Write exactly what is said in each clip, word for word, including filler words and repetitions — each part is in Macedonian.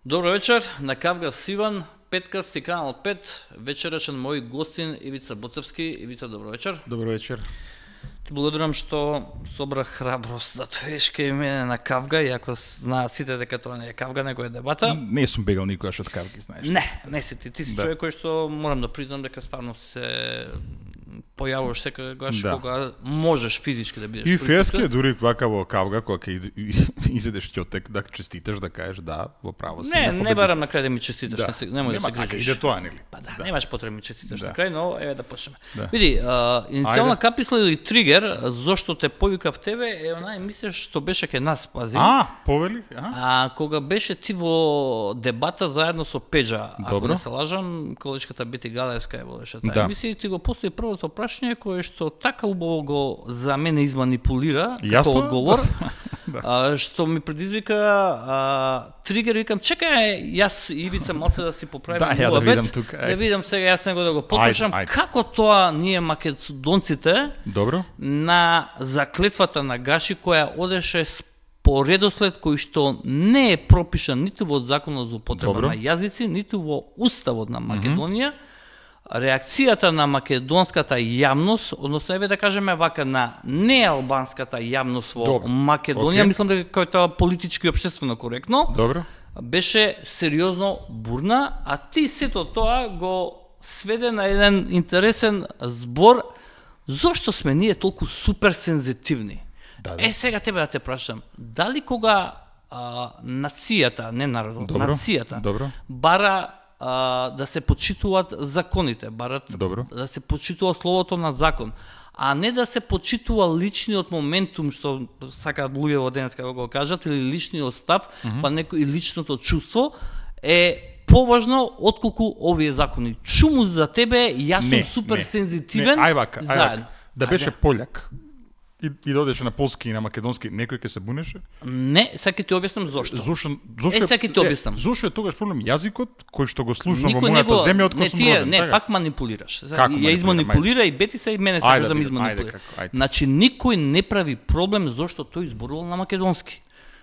Добро вечер, на Кавга Сиван, Петкаст и Канал пет, вечерашен мој гостин Ивица Боцевски. Ивица, добро вечер. Добро вечер. Ти благодарам што собрах храброст да дојдеш кај мене на Кавга, иако знаат сите дека тоа не е Кавга, него е дебата. Не сум бегал никогаш од Кавги, знаеш. Не, не си ти. Ти си Да. човек кој што морам да признам дека стварно се појавуваш секогаш Да. кога можеш физички да бидеш И присутен. фески дури вака во Кавга кога ќе изедеш ќотек да честиташ, да кажеш да, во право си. Не, да не победи. барам на крај да ми честиташ, Да. не се, немој да Нема се така, грижиш. иде тоа, нели? Па да, немаш потреба да ми честиташ Да. на крај, но еве да почнеме. Да. Види, а, иницијална Ајде. каписла или тригер, зошто те повикав тебе, е онаа емисија што беше кај нас, пази. А, повели? А? А кога беше ти во дебата заедно со Пеџа, ако Добро. не се лажам, колечката Бити Галевска ја водеше таа Да. емисија и ти го постави првото прашање кое што така убаво го за мене изманипулира како Јасно? одговор. Да. А, што ми предизвика а, тригер, викам, чекај, јас и Ивица малце да си поправим Да, ја да муабет, видам тука, да ајде. видам сега јас него да го потпишам, Ајде, ајде. како тоа ние македонците Добро. на заклетвата на Гаши која одеше по редослед кој што не е пропишан ниту во Законот за употреба Добро. на јазици, ниту во Уставот на Македонија, реакцијата на македонската јавност, односно еве да кажеме вака на неалбанската јавност во Добро. Македонија, Окей. мислам дека е тоа политички и општествено коректно, Добро. беше сериозно бурна, а ти сето тоа го сведе на еден интересен збор зошто сме ние толку супер сензитивни. Да, да. Е, сега тебе да те прашам, дали кога а, нацијата, не народот, Добро. нацијата, Добро. бара а, да се почитуваат законите, барат Добро. да се почитува словото на закон, а не да се почитува личниот моментум, што сакаат луѓе во денеска да го кажат, или личниот став, mm -hmm. па некој и личното чувство, е поважно отколку овие закони. Чуму за тебе, јас сум Не, супер не, сензитивен, Не, ај вака, ај заедно. вака. Да беше Ајде. пољак и, и да одеше на полски и на македонски, некој ќе се бунеше? Не, сега ќе ти објаснам зошто. Зошто, зошто Е, сега ќе ти објаснам. Зошто е тогаш проблем јазикот кој што го слушам во Никој мојата него, земја од не кој сум тие, роден? не, така? пак манипулираш. Како Ја манипулирам? изманипулира и Бетиса и мене Ајде сакаш да да ми видам, ајде, изманипулира. како, ајде. Значи никој не прави проблем зошто тој зборувал на македонски.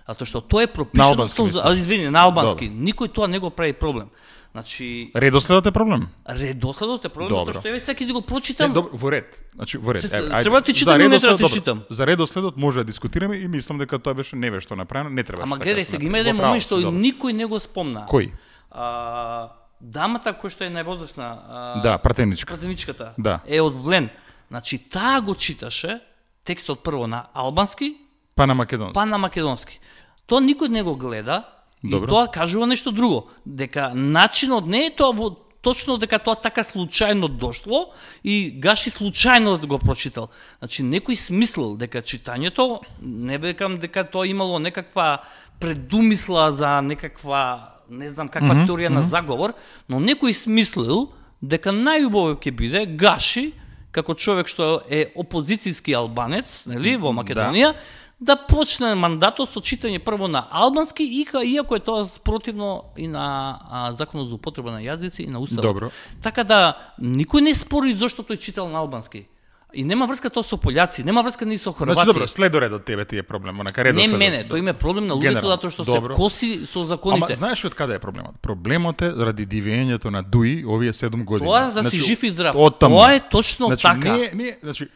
Затоа што тоа е На пропишано албански, со, мислиш? а, извини, на албански. Никој тоа не го прави проблем. Значи Редоследот е проблем? редоследот е проблем Добро. затоа што еве сега ќе ти го Не, прочитам. добро, во ред. Значи во ред. Се- Еве, ајде. треба да ти За читам или не треба да ти редоследот, читам? добро. За редоследот може да дискутираме и мислам дека тоа беше невешто направено, не требаше. Ама така гледај да се сега, направи. има еден Во право момент си, што добро. никој не го спомна. Кој? А, дамата која што е највозрасна, а, Да, пратеничка. пратеничката, Да. е од Влен. Значи таа го читаше текстот прво на албански, Па на македонски. па на македонски. Тоа никој не го гледа Добро. и тоа кажува нешто друго. Дека начинот не е тоа во точно дека тоа така случајно дошло и Гаши случајно го прочитал. Значи некој смислил дека читањето, не бекам дека тоа имало некаква предумисла за некаква не знам каква Мгм, теорија на заговор, но некој смислил дека најубаво ќе биде Гаши како човек што е опозицијски албанец, нели, во Македонија, да почне мандатот со читање прво на албански, и ка- иако е тоа противно и на а, Законот за употреба на јазици и на Уставот. Добро. Така да никој не спори зошто тој читал на албански. И нема врска тоа со пољаци, нема врска ни со хорвати. Значи добро, следоред од тебе ти е проблем, онака не редоследот. мене, тој има проблем на луѓето Генерално, затоа што добро. се коси со законите. Ама знаеш од каде е проблемот? Проблемот е заради дивењето на Дуи овие седум години. Тоа за да си жив и здрав. оттаму. Тоа е точно значи, така. Не, не, значи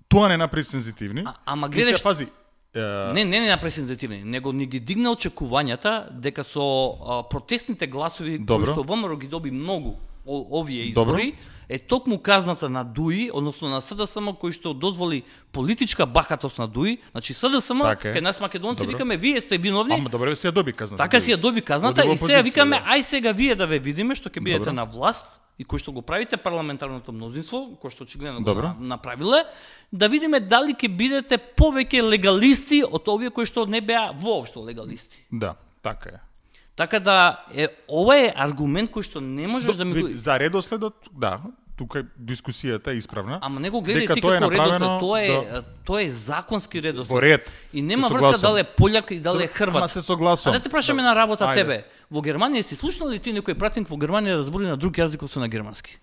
тоа не направи сензитивни. А- ама И гледаш- се пази. е, Не, не, не направи сензитивни, него ни ги дигна очекувањата дека со а, протестните гласови Добро. кои што ВМРО ги доби многу о, овие Добро. избори, е токму казната на Дуи, односно на СДСМ кој што дозволи политичка бахатост на Дуи, значи СДСМ, Така е. кај нас македонци Добро. викаме вие сте виновни, Ама добре си ја доби казната. така си ја доби казната Оди во и сега опозиција, викаме да. ај сега вие да ве видиме што ќе бидете Добро. на власт и кој што го правите парламентарното мнозинство, кој што очигледно го Добро. на- направиле, да видиме дали ќе бидете повеќе легалисти од овие кои што не беа воопшто легалисти. Да, така е. Така да е ова е аргумент кој што не можеш да ми го Вид, за редоследот, да, тука дискусијата е исправна. Ама не го гледај дека ти тоа е како редослед, направено тоа е до- тоа е законски редослед. Во ред. И нема Се врска согласувам. дали е пољак и дали е хрват. Ама се согласувам. А да те прашаме на работа Ајде. тебе. Во Германија си слушнал ли ти некој пратеник во Германија да збори на друг јазик освен на германски?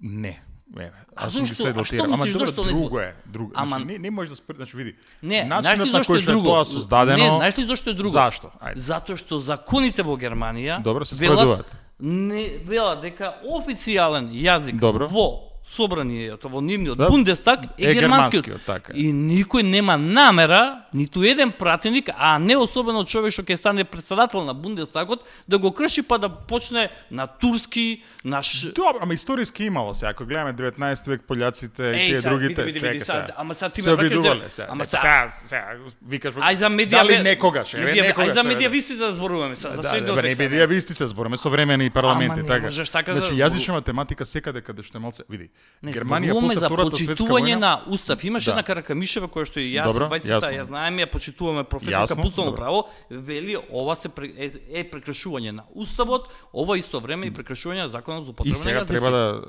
Не. Еве, А сум ги зошто? следел А што тие- Ама мислиш, добро, зашто не друго збор- е, друго. Ама- Значи, не, не може да спр... значи види. Не, знаеш ли начинот на зашто кој е што е друго? тоа создадено. Не, знаеш ли зашто е друго? Зашто? Ајде. Затоа што законите во Германија Добро, се велат, споредуваат. не велат дека официјален јазик Добро. во собранието, во нивниот Да. Бундестаг е, Е германскиот. германскиот, така е. И никој нема намера, ниту еден пратеник, а не особено човек што ќе стане председател на Бундестагот, да го крши па да почне на турски, на ш... Добро, ама историски имало се. Ако гледаме деветнаесети век пољаците и Еј, тие сега, другите, види, види, види, чека сега, се. ама сега ти се ме враќаш обидувале де- се. ама Е, сега- сега, сега викаш Ај за медија дали некогаш, еве медија, некогаш. ај за еве, медијависти да зборуваме сега, за Да, средниот да, не век. сега. медијависти се збориме современи парламенти, Ама не така. можеш така да Значи зборуваш. јазична математика секаде каде што е малце, види. Не, Германија зборуваме после за Втората светска почитување војна, на устав. Имаше Да. една Каракамишева која што и јас, Добро, бајцата, јасно. ја знаеме, ја почитуваме професорка Јасно, пуставно добро. право, вели ова се пре- е, е прекршување на уставот, ова исто време и прекршување на законот за и употреба на сега јазици. треба да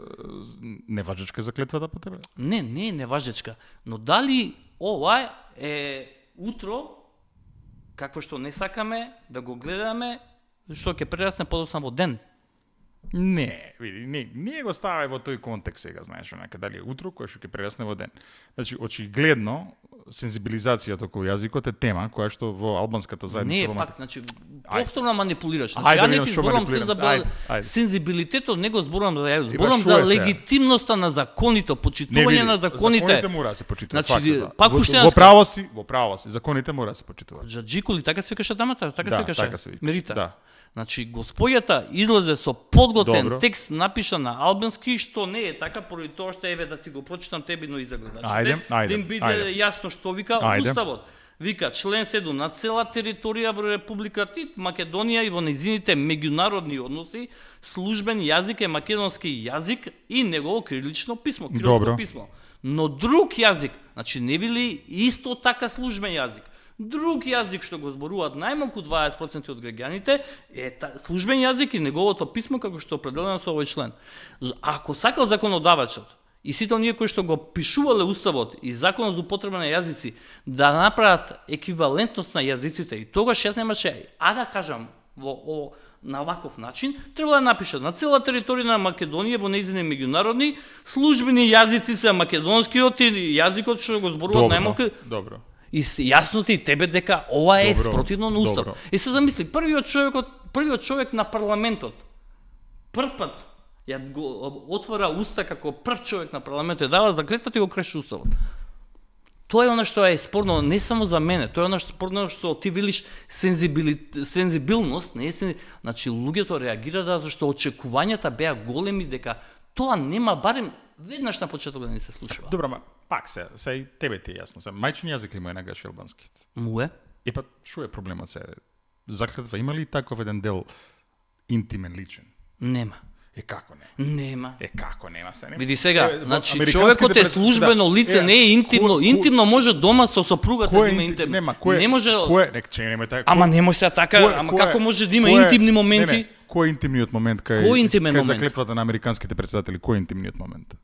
неважечка заклетвата по тебе. Не, не е неважечка, но дали ова е утро какво што не сакаме да го гледаме, што ќе прерасне подоцна во ден. Не, види, не, ние го ставаме во тој контекст сега, знаеш, онака дали е утро кој што ќе прерасне во ден. Значи, очигледно сензибилизацијата околу јазикот е тема која што во албанската Не заедница е во пак, значи, повторно манипулираш. Значи, Ајде, ја не видам ти што зборувам манипулирам. сензабил... Ајде, ајде. сензибилитетот, не го зборувам за ја, Има, зборувам шо за е сега? легитимноста на законите, Не, почитување види, на законите. законите мора да се почитуваат. Значи, Значи, пак во, уште во една право си, во право си, законите мора да се почитуваат. Джаджикули, така се викаше дамата, така Да, се викаше. така се викаше, Мерита. да. Значи, господјата излезе со подготен Добро. текст напишан на албански, што не е така, поради тоа што еве да ти го прочитам тебе, но и за гледачите. Ајде, ајде, да им биде ајде. јасно што вика Ајде. уставот. Вика член седум, на цела територија во Републиката Македонија и во незините меѓународни односи, службен јазик е македонски јазик и негово кирилично писмо, кирилско Добро. писмо. Но друг јазик, значи не били исто така службен јазик. Друг јазик што го зборуваат најмалку дваесет проценти од граѓаните е та, службен јазик и неговото писмо како што е определено со овој член. Ако сакал законодавачот и сите оние кои што го пишувале уставот и законот за употреба на јазици да направат еквивалентност на јазиците и тогаш јас немаше, а да кажам во о, на ваков начин, треба да напишат на цела територија на Македонија во нејзини меѓународни службени јазици се македонскиот и јазикот што го зборуваат Добро, најмалку. добро. И с- јасно ти и тебе дека ова е Добро, спротивно на устав. добро. И се замисли, првиот човекот, првиот човек на парламентот, прв пат ја го отвора уста како прв човек на парламентот, дава заклетвата и го креши уставот. Тоа е она што е спорно не само за мене, тоа е она што спорно што ти велиш сензибили... сензибилност, не е сен... значи луѓето реагираа зашто очекувањата беа големи дека тоа нема барем веднаш на почеток да не се случува. Добро, ма пак се, се и тебе ти е јасно. Се мајчин јазик ли му е нагаш албански? Му е. Е па шо е проблемот се? Заклетва има ли таков еден дел интимен личен? Нема. Е како не? Нема. Е како нема се нема? Види сега, Е, во значи американските човекот е пред- службено да, лице, е, не е интимно. кој- кој- Интимно може дома со сопругата да Кој е има инти- интимно. Нема, кој е- Не може. Кој е, нека че нема така. Ама не може сега така, кој е- ама кој е- како може да има кој е- интимни Не, моменти? не, кој е интимниот момент кај Кој интимен кај момент? заклетвата на американските председатели? Кој е интимниот момент?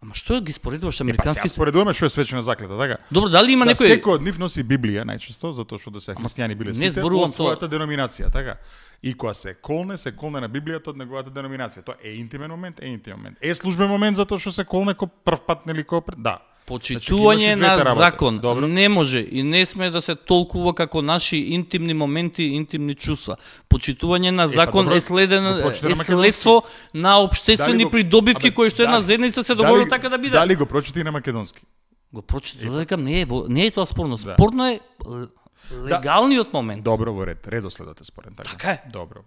Ама што ги споредуваш Е, па американски? сега споредуваме што е свечена заклета, така? Добро, дали има Да, некој секој од нив носи Библија најчесто, затоа што да се христијани биле не сите зборувам од својата тоа. деноминација, така? И кога се колне, се колне на Библијата од неговата деноминација. Тоа е интимен момент, е интимен момент. Е службен момент затоа што се колне ко прв пат нели ко пред... Да. Почитување Значи, ги имаш и на двете работи. закон Добро. не може и не сме да се толкува како наши интимни моменти, интимни чувства. Почитување на закон добро, е следен го прочита е на македонски. следство на обштествени Дали го- придобивки Абе, кои што една дали- заедница се дали- договори така да биде. Дали го прочита и на македонски? Го прочита, да кажам, не е во- не е тоа спорно. Да. Спорно е л- легалниот момент. Добро, во ред, редоследот е спорен, така. Така е. Добро.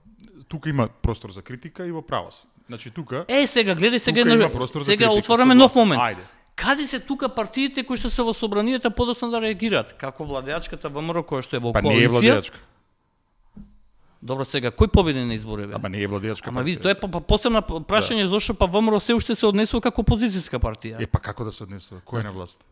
Тука има простор за критика и во право си. Значи тука Е, сега гледај сега тука едно- има простор за сега критика, отвараме нов согласен. момент. Ајде. Каде се тука партиите кои што се во собранието подоцна да реагираат? Како владеачката ВМРО која што е во Па не е коалиција? владеачка. Добро, сега кој победи на изборите? Ама не е владеачка. Ама види, партија. тоа е па, па посебна прашање Да. зошто па ВМРО се уште се однесува како опозицијска партија. Е па како да се однесува? Кој е на власт?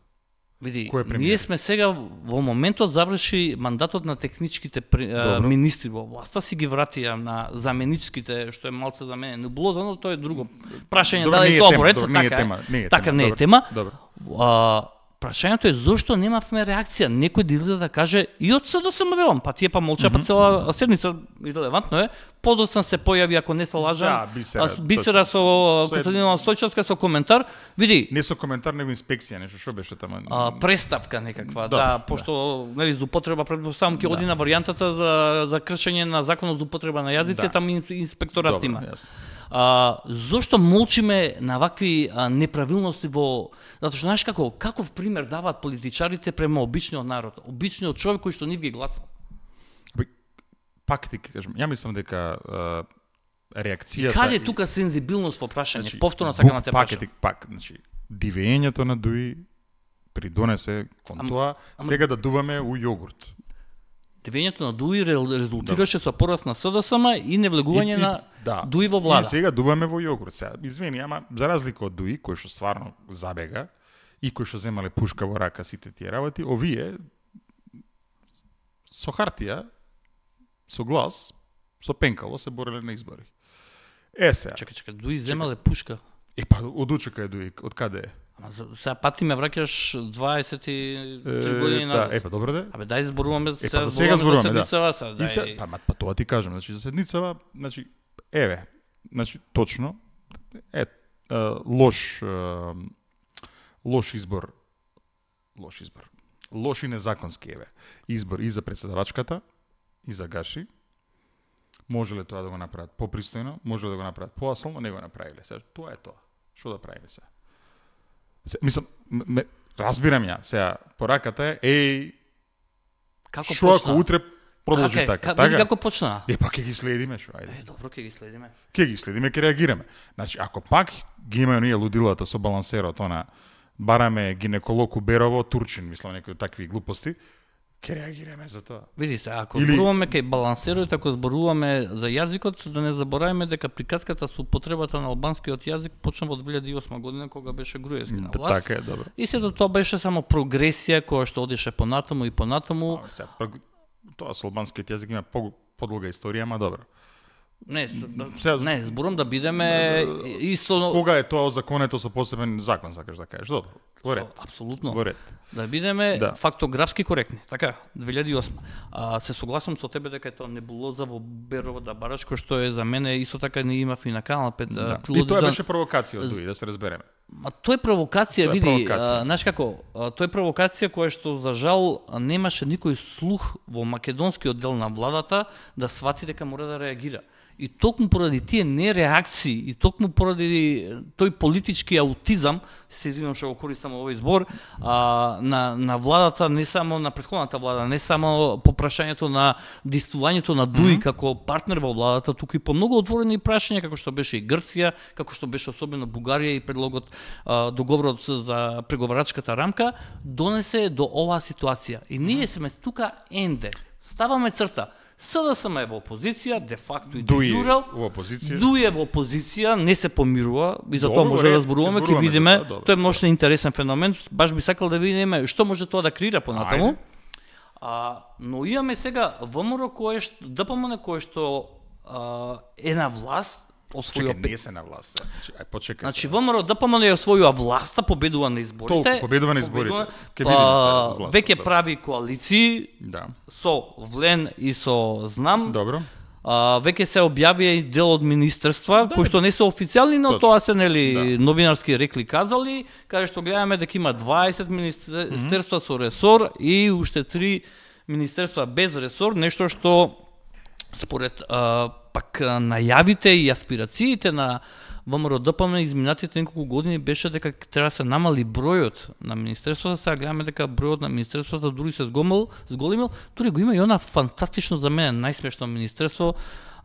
Види, кој е премиер? ние сме сега во моментот заврши мандатот на техничките при, а, Добро. министри во власта, си ги вратија на заменичките, што е малце за мене небулоза, но тоа е друго прашање Добро, дали не е е тоа тема, во ред, добро, не е така тема, не е така тема, не е добро, тема. добро. А, прашањето е зошто немавме реакција. Некој да излезе да каже и од СДСМ велам, па тие па молча па цела седница, ирелевантно е. Подоцна се појави, ако не се лажам, Да, Бисера, Бисера со Костадинова Стојчевска со коментар. Види, Не со коментар, него инспекција, нешто што беше таму. а, преставка некаква, Да, да, пошто нели за употреба предпоставам ќе оди на варијантата за за кршење на законот за употреба на јазици, Да. таму инспекторат Добро, има. јасно. А, зошто молчиме на вакви а, неправилности во... Затоа што знаеш како, каков пример даваат политичарите према обичниот народ, обичниот човек кој што нив ги гласа. Бе, Пак ти кажам, ја мислам дека а, реакцијата... И каде е тука сензибилност во прашање? Значи, Повторно сакам да те пак, прашам. е ти- пак, значи, дивењето на Дуи придонесе кон Ам- тоа, ама- сега да дуваме у јогурт. Дивењето на Дуи ре- резултираше со пораст на СДСМ и невлегување И- и- на да. Дуи во И влада. сега дуваме во јогурт. Сега, извини, ама за разлика од Дуи, кој што стварно забега и кој што земале пушка во рака сите тие работи, овие со хартија, со глас, со пенкало се бореле на избори. Е сега. Чекај, чекај, Дуи земале пушка. Е па од учека е Дуи, од каде е? Ама за- сега пати ме враќаш дваесет и три Е, години да, назад. е па добро де. Абе дај зборуваме за Е, па за сега зборуваме зборуваме, да. за седмицава, сега, И се, дај. па, ма, па тоа ти кажам, значи за седницава, значи еве, значи точно е, е лош е, лош избор. Лош избор. Лош и незаконски еве. Избор и за председавачката и за Гаши. Може ли тоа да го направат попристојно, може ли да го направат поаслно, не го направиле. Сега тоа е тоа. Што да правиме сега? Се, мислам, ме, разбирам ја, сега пораката е еј Како што ако почна? утре продолжи Така, така? е, ка- види како почна. Е, па ќе ги следиме, шо, ајде. Е, добро, ќе ги следиме. Ќе ги следиме, ќе реагираме. Значи, ако пак ги имају ние лудилата со балансерот, она, бараме гинеколог у Берово, Турчин, мислам, некои такви глупости, ќе реагираме за тоа. Види се, ако Или- зборуваме кај балансерот, ако зборуваме за јазикот, да не забораваме дека приказката со употребата на албанскиот јазик почна во две илјади и осма година кога беше Груевски на власт. Така е, добро. И се до тоа беше само прогресија која што одеше понатаму и понатаму. А, сега, прг- тоа со албанскиот јазик има по, подолга историја, ама добро. Не, с- Сега- не, зборувам да бидеме исто Кога е тоа озаконето со посебен закон, сакаш да кажеш? Добро. Во ред. апсолутно. Во ред. Да бидеме Да. фактографски коректни. Така, две илјади и осма. А, се согласувам со тебе дека е тоа небулоза во Берово да бараш, кој што е за мене исто така не имав и на Канал пет. Да. прилози И тоа за- беше провокација од Дуи, да се разбереме. Ма тоа е провокација, Тоа е види, провокација. а, знаеш како, а, тоа е провокација која што за жал а, немаше никој слух во македонскиот дел на владата да свати дека мора да реагира. И токму поради тие нереакции и токму поради тој политички аутизам, се извинувам што го користам овој збор, а, на на владата, не само на претходната влада, не само по прашањето на действувањето на Дуи mm -hmm. како партнер во владата, туку и по многу отворени прашања како што беше и Грција, како што беше особено Бугарија и предлогот а, договорот за преговарачката рамка, донесе до оваа ситуација. И ние сме тука енде. Ставаме црта. СДСМ е во опозиција, де факто и де Дуи јуре. во опозиција. Дуи е во опозиција, не се помирува и за Добро, тоа може ред, да зборуваме, ќе зборуваме за видиме. тоа, добро. Тоа е може интересен феномен, баш би сакал да видиме што може тоа да креира понатаму. Ајде. А, но имаме сега ВМРО кое што ДПМН кое што а, е на власт, освојува Чекај, не се на власт. сега. Значи, ај почекај. Значи сега. ВМРО ДПМН ја освојува власта, победува на изборите. Толку, победува на изборите. победува- Ќе видиме сега па, власта, веќе добро. прави коалиции Да. со Влен и со Знам. Добро. А, веќе се објавија и дел од министерства, Да. кои што не се официјални, но Точно. тоа се нели Да. новинарски рекли казали, каде што гледаме дека има дваесет министерства со ресор и уште три министерства без ресор, нешто што според а, пак а, најавите и аспирациите на ВМРО ДПМН изминатите неколку години беше дека треба да се намали бројот на министерствата, сега гледаме дека бројот на министерствата дури се згомил, зголемил, дури го има и она фантастично за мене најсмешно министерство,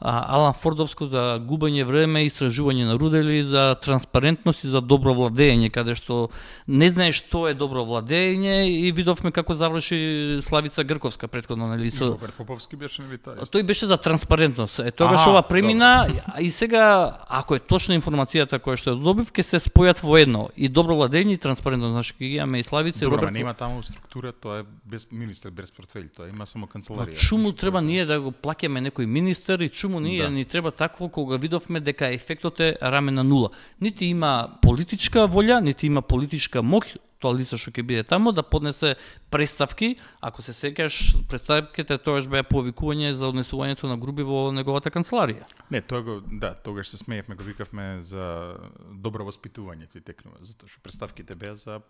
а, Алан Фордовско за губење време, истражување на рудели, за транспарентност и за добро владење, каде што не знаеш што е добро владење и видовме како заврши Славица Грковска претходно, нели, со Роберт Поповски беше нели тоа? тој беше за транспарентност. Е тогаш Аха, ова премина а и сега ако е точна информацијата која што ја добив, ќе се спојат во едно и добро владење и транспарентност. Значи ќе ги имаме и Славица и Добро, ама Роберт. нема таму структура, тоа е без министер, без портфели, тоа има само Ма канцеларија. чуму треба ние да го плаќаме некој министер и чуму ние Да. ни треба такво кога видовме дека ефектот е рамен на нула. Нити има политичка волја, нити има политичка моќ тоа лице што ќе биде таму да поднесе представки, ако се сеќаш, представките тоаш беа повикување за однесувањето на груби во неговата канцеларија. Не, тоа го, да, тогаш се смеевме, го викавме за добро воспитување ти текнува, затоа што представките беа за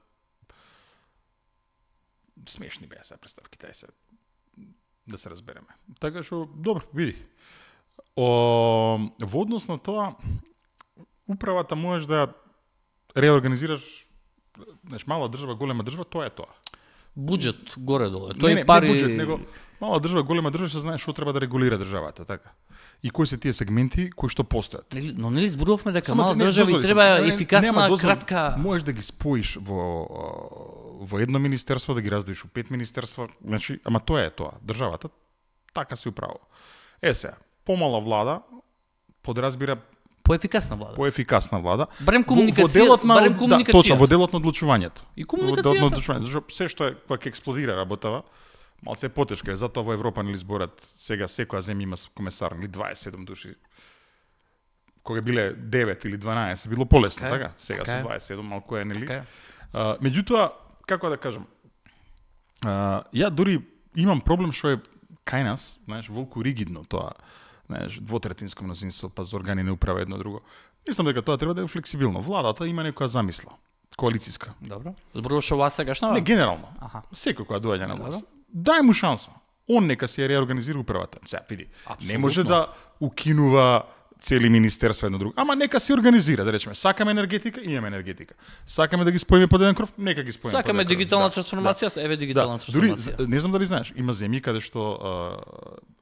смешни беа се представките, ај се да се разбереме. Така што добро, види. О, во однос на тоа, управата можеш да реорганизираш, знаеш, мала држава, голема држава, тоа е тоа. Буџет горе-долу. Тој не, не, пари не буџет, него мала држава, голема држава, се знае што треба да регулира државата, така. И кои се тие сегменти кои што постојат. Нели, но нели зборувавме дека Само мала не, држава и треба не, ефикасна, нема дозволи, кратка... Можеш да ги споиш во во едно министерство, да ги раздвоиш у пет министерства, значи, ама тоа е тоа. Државата така се управува. Е сега, помала влада подразбира Поефикасна влада. поефикасна влада. Барем Во- во комуникација, делот на, барем да, комуникацијата. точно, во делот на одлучувањето. И Во делот на комуникацијата. одлучувањето, зашто се што е кога ќе експлодира работава, малце е потешка, е затоа во Европа нели зборат сега секоја земја има комесар, нели дваесет и седум души. Кога биле девет или дванаесет, било полесно, Така е, така? Сега така е. со дваесет и седум малку е, нели? Така е. А, меѓутоа, како да кажам, а, ја дури имам проблем што е кај нас, знаеш, волку ригидно тоа, знаеш, двотретинско мнозинство, па за органи не управа едно друго. Мислам дека тоа треба да е флексибилно. Владата има некоја замисла, коалициска. Добро. Зборуваш ова сегашна? Не, генерално. Аха. Секој која доаѓа на Добро. власт. Дај му шанса. Он нека се реорганизира управата. Сега, види, не може да укинува цели министерства едно друго. Ама нека се организира, да речеме, сакаме енергетика, имаме енергетика. Сакаме да ги споиме под еден кров, нека ги споиме Сакаме под еден кров. дигитална Да, трансформација, еве дигитална да. Дури, трансформација. не знам дали знаеш, има земји каде што а,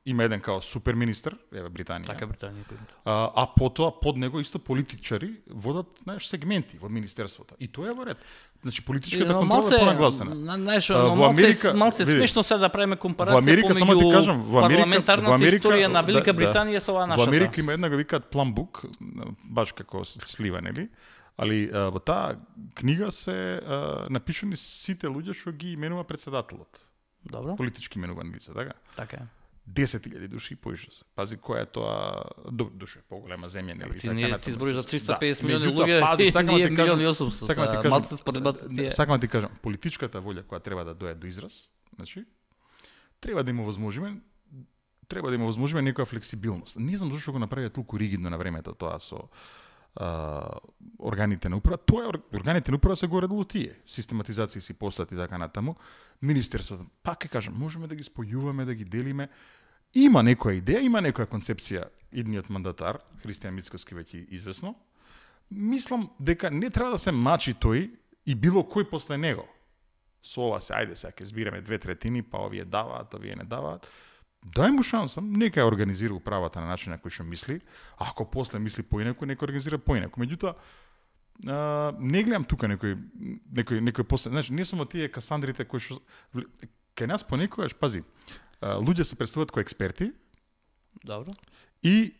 има еден као супер министер, еве Британија. Така Британија пример. А, а потоа под него исто политичари водат, знаеш, сегменти во министерството. И тоа е во ред. Значи политичката Но контрола е понагласена. Знаеш, А, но во малце, Америка- малце види, смешно се да правиме Во компарација Америка, само ти помеѓу кажам, во Америка, парламентарната во Америка, историја на Велика да, Британија со оваа Во нашата. Америка има една го викаат пламбук, баш како слива, нели? Али а, во таа книга се а, напишани сите луѓе што ги именува председателот. Добро, Политички именувани лица, така? така е. десет илјади души и поише се. Пази која е тоа до душе поголема земја, нели? Ти, ние, ти збориш за триста и педесет Да, милиони меѓутоа, луѓе пази, и сакам да ние ти кажам- милиони и осумстотини. сакам да ти Са кажам, малце споредбата тие. Сакам да ти кажам, политичката волја која треба да дојде до израз, значи, треба да има возможиме, треба да има возможиме некоја флексибилност. Не знам зашто го направија толку ригидно на времето тоа со а, органите на управа. Тоа е, органите на управа се горе-долу тие. Систематизации си постојат и така натаму. Министерството, пак ќе кажам, можеме да ги спојуваме, да ги делиме. Има некоја идеја, има некоја концепција идниот мандатар, Христијан Мицкоски веќе известно. Мислам дека не треба да се мачи тој и било кој после него. Со ова се, ајде сега ќе збираме две третини, па овие даваат, овие не даваат. Дај му шанса, нека ја организира управата на начин на кој што мисли, а ако после мисли поинаку, нека организира поинаку. Меѓутоа, а, не гледам тука некој некој некој после, значи не сум од тие касандрите кои што кај нас понекогаш, пази, а, луѓе се представуваат кои експерти Добро. и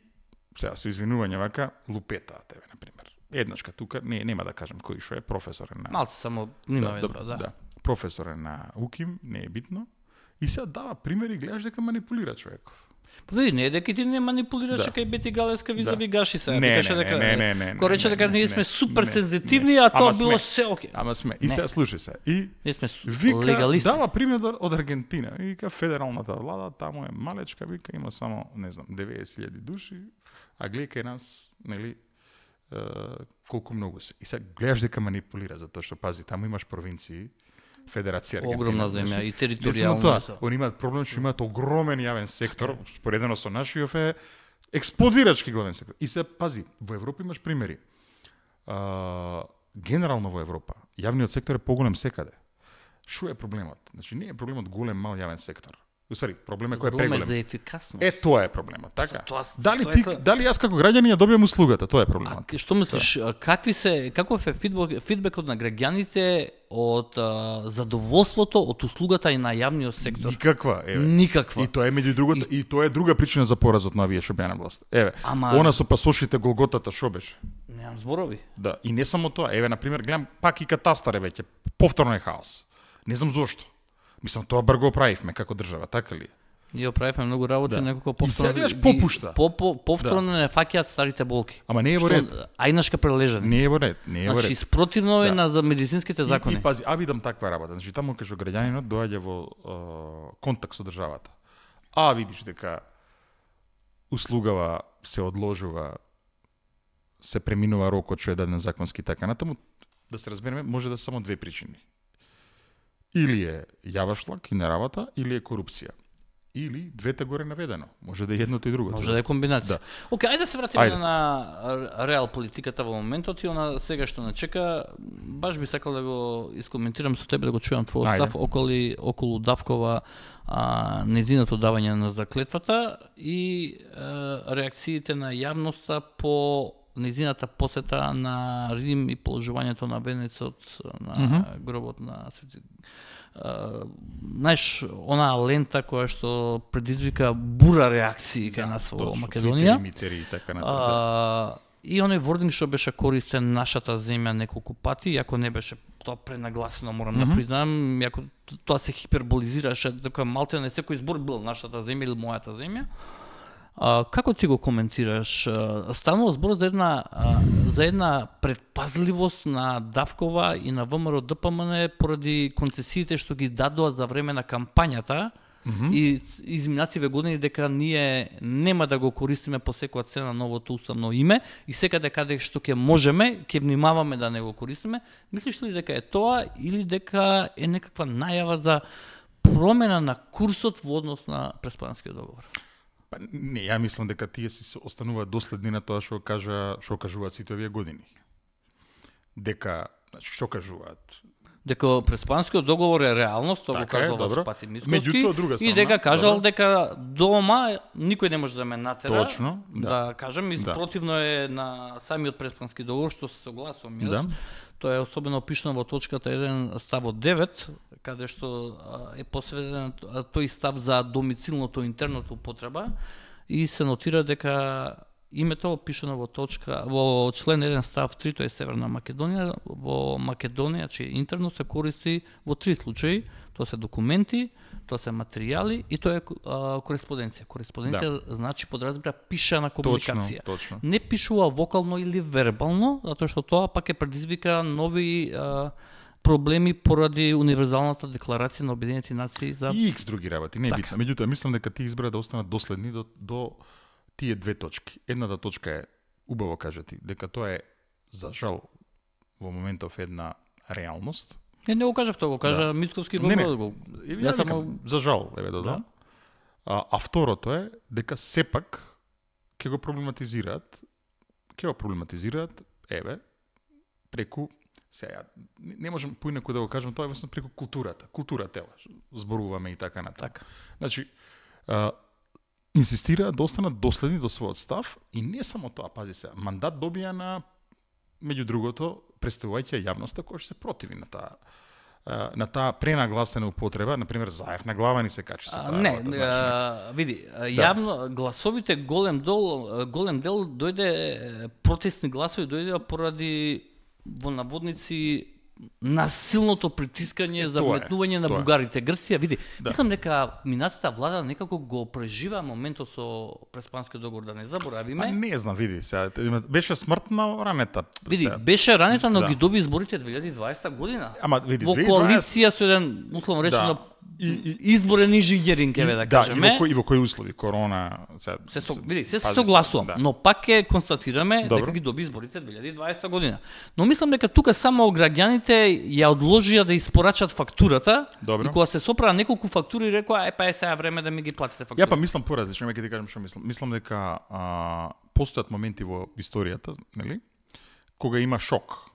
сега со извинување вака лупетаат тебе на пример. Еднашка тука, не нема да кажам кој што е професор е на Малце само нима да, да, да. да, професор е на УКИМ, не е битно. И сега дава примери и гледаш дека манипулира човеков. Па види, не е дека ти не манипулираше Да. кај Бети Галевска визави Да. Гаши се. Не, Викаше не, дека не, не, не, не, Ко рече не, дека не, ние не, сме супер не, сензитивни, не. а тоа Ама било сме. се оке. Ама сме. И Не. сега слушај се. И Ние сме су- вика, легалисти. дава пример од Аргентина. И вика федералната влада, таму е малечка, вика има само, не знам, деветдесет илјади души, а гледај кај нас, нели, е, колку многу се. И сега гледаш дека манипулира, затоа што пази, таму имаш провинции, Федерација Аргентина. Огромна земја значи, и не само територијално. тоа, се. они имаат проблем што имаат огромен јавен сектор, споредено со нашиот е експлодирачки главен сектор. И се пази, во Европа имаш примери. А, генерално во Европа, јавниот сектор е поголем секаде. Што е проблемот? Значи не е проблемот голем мал јавен сектор. Уствари, проблем е кој е Проблем е преголем. за ефикасност. Е, тоа е проблемот, така? За тоа- дали тоа е ти, са- дали јас како граѓанин ја добијам услугата, тоа е А проблемот. к- што мислиш, а, какви се, каков е фидбек, фидбекот на граѓаните од а, задоволството од услугата и на јавниот сектор? Никаква, еве. Никаква. И тоа е меѓу другото, и... и тоа е друга причина за поразот на овие што беа на власт. Еве, Ама- она со пасошите Голготата што беше? Немам зборови. Да, и не само тоа. Еве, на пример, гледам пак и катастар е веќе. Повторно е хаос. Не знам зошто. Мислам, тоа брго правивме како држава, така ли? Ние оправивме многу работи, Да. некако И повторно сега ги- попушта. по, по, повторно не фаќаат старите болки. Ама не е во Што ред. ајнашка прележани. Не е во ред, не е во Значи ред. спротивно е Да. на за медицинските закони. И, и пази, а видам таква работа. Значи таму кај што граѓанинот доаѓа во е, контакт со државата. А видиш дека услугава се одложува, се преминува рокот што е даден законски така натаму, да се разбереме, може да се само две причини. Или е јавашлак и неработа, или е корупција. Или двете горе наведено. Може да е едното и другото. Може да е комбинација. Да. Океј, ајде да се вратиме Ајде. на реал политиката во моментот и она сега што не чека. Баш би сакал да го искоментирам со тебе, да го чујам твојот Ајде. став околу околу Давкова, а, незиното давање на заклетвата и а, реакциите на јавноста по незината посета на Рим и положувањето на венецот на mm -hmm. гробот на Свети. Uh, знаеш, онаа лента која што предизвика бура реакции кај нас во точно, Македонија. Твитери, и така натаму. Да. Uh, и оној вординг што беше користен нашата земја неколку пати, иако не беше тоа пренагласено, морам mm -hmm. да признам, иако тоа се хиперболизираше, дека малте не секој збор бил нашата земја или мојата земја. А, како ти го коментираш? А, станува збор за една а, за една предпазливост на Давкова и на ВМРО Д П М Н поради концесиите што ги дадоа за време на кампањата mm -hmm. и изминативе години дека ние нема да го користиме по секоја цена новото уставно име и секаде каде што ќе можеме, ќе внимаваме да не го користиме. Мислиш ли дека е тоа или дека е некаква најава за промена на курсот во однос на Преспанскиот договор? Па не, ја мислам дека тие се остануваат доследни на тоа што кажа, што кажуваат сите овие години. Дека, значи што кажуваат? Дека Преспанскиот договор е реалност, тоа го Така е, кажал добро. Вацпати Мицковски, Меѓутоа, друга и страна, дека кажал добро. дека дома никој не може да ме натера. Точно, да. Да кажам, и Да. спротивно е на самиот Преспански договор, што се согласувам јас. Да. Тоа е особено опишано во точката еден ставот девет, каде што а, е посветен а, тој став за домицилното интерното употреба и се нотира дека името опишано во точка во член еден став три, тоа е Северна Македонија, во Македонија, че интерно се користи во три случаи, тоа се документи, тоа се материјали и тоа е а, кореспонденција. Кореспонденција да. значи подразбира пишана комуникација. Точно, точно. Не пишува вокално или вербално, затоа што тоа пак е предизвика нови а, проблеми поради универзалната декларација на Обединетите нации за И икс други работи, не е Така. битно. Меѓутоа, мислам дека тие избра да останат доследни до, до тие две точки. Едната точка е, убаво кажати, дека тоа е, за жал, во моментов една реалност. Не, не го кажав тоа, го кажа Да. Мицковски Не, не. го. го. Еве, Јас ја само викам, за жал, еве да Да. дам. А, а второто е дека сепак ќе го проблематизираат, ќе го проблематизираат, еве, преку сега не, не можам поинаку да го кажам, тоа е веќе преку културата. Културата ева, зборуваме и така натаму. Така. Значи, а, инсистираат да останат доследни до својот став и не само тоа, пази се, мандат добија на, меѓу другото, представувајќи јавноста која што се противи на таа а, на таа пренагласена употреба, на пример Заев на глава ни се качи со А, таа не, работа, значи. а, види, а, јавно гласовите голем дел голем дел дојде е, протестни гласови дојдеа поради во наводници насилното притискање за тоа е, вметнување на тоа е. бугарите. Грција, види, Да. мислам дека минатата влада некако го прежива моментот со Преспанскиот договор, да не заборавиме. Па не знам, види, сега има- беше смртна ранета. Види, сега. беше ранета, но Да. ги доби изборите две илјади и дваесета година. Ама види, Во две илјади и дваесета коалиција со еден, условно речено, Да. И- и- изборен инженеринг, еве да да, кажеме. и во кои, и во кои услови, корона, сега, Се со, види, се пази согласувам, да. но пак ќе констатираме Добро. дека ги доби изборите две илјади и дваесета година. Но мислам дека тука само граѓаните ја одложија да испорачат фактурата. Добро. И кога се сопра неколку фактури рекоа, е па е сега време да ми ги платите фактури. Ја па мислам поразлично, ќе ти кажам што мислам. Мислам дека а, постојат моменти во историјата, нели, кога има шок.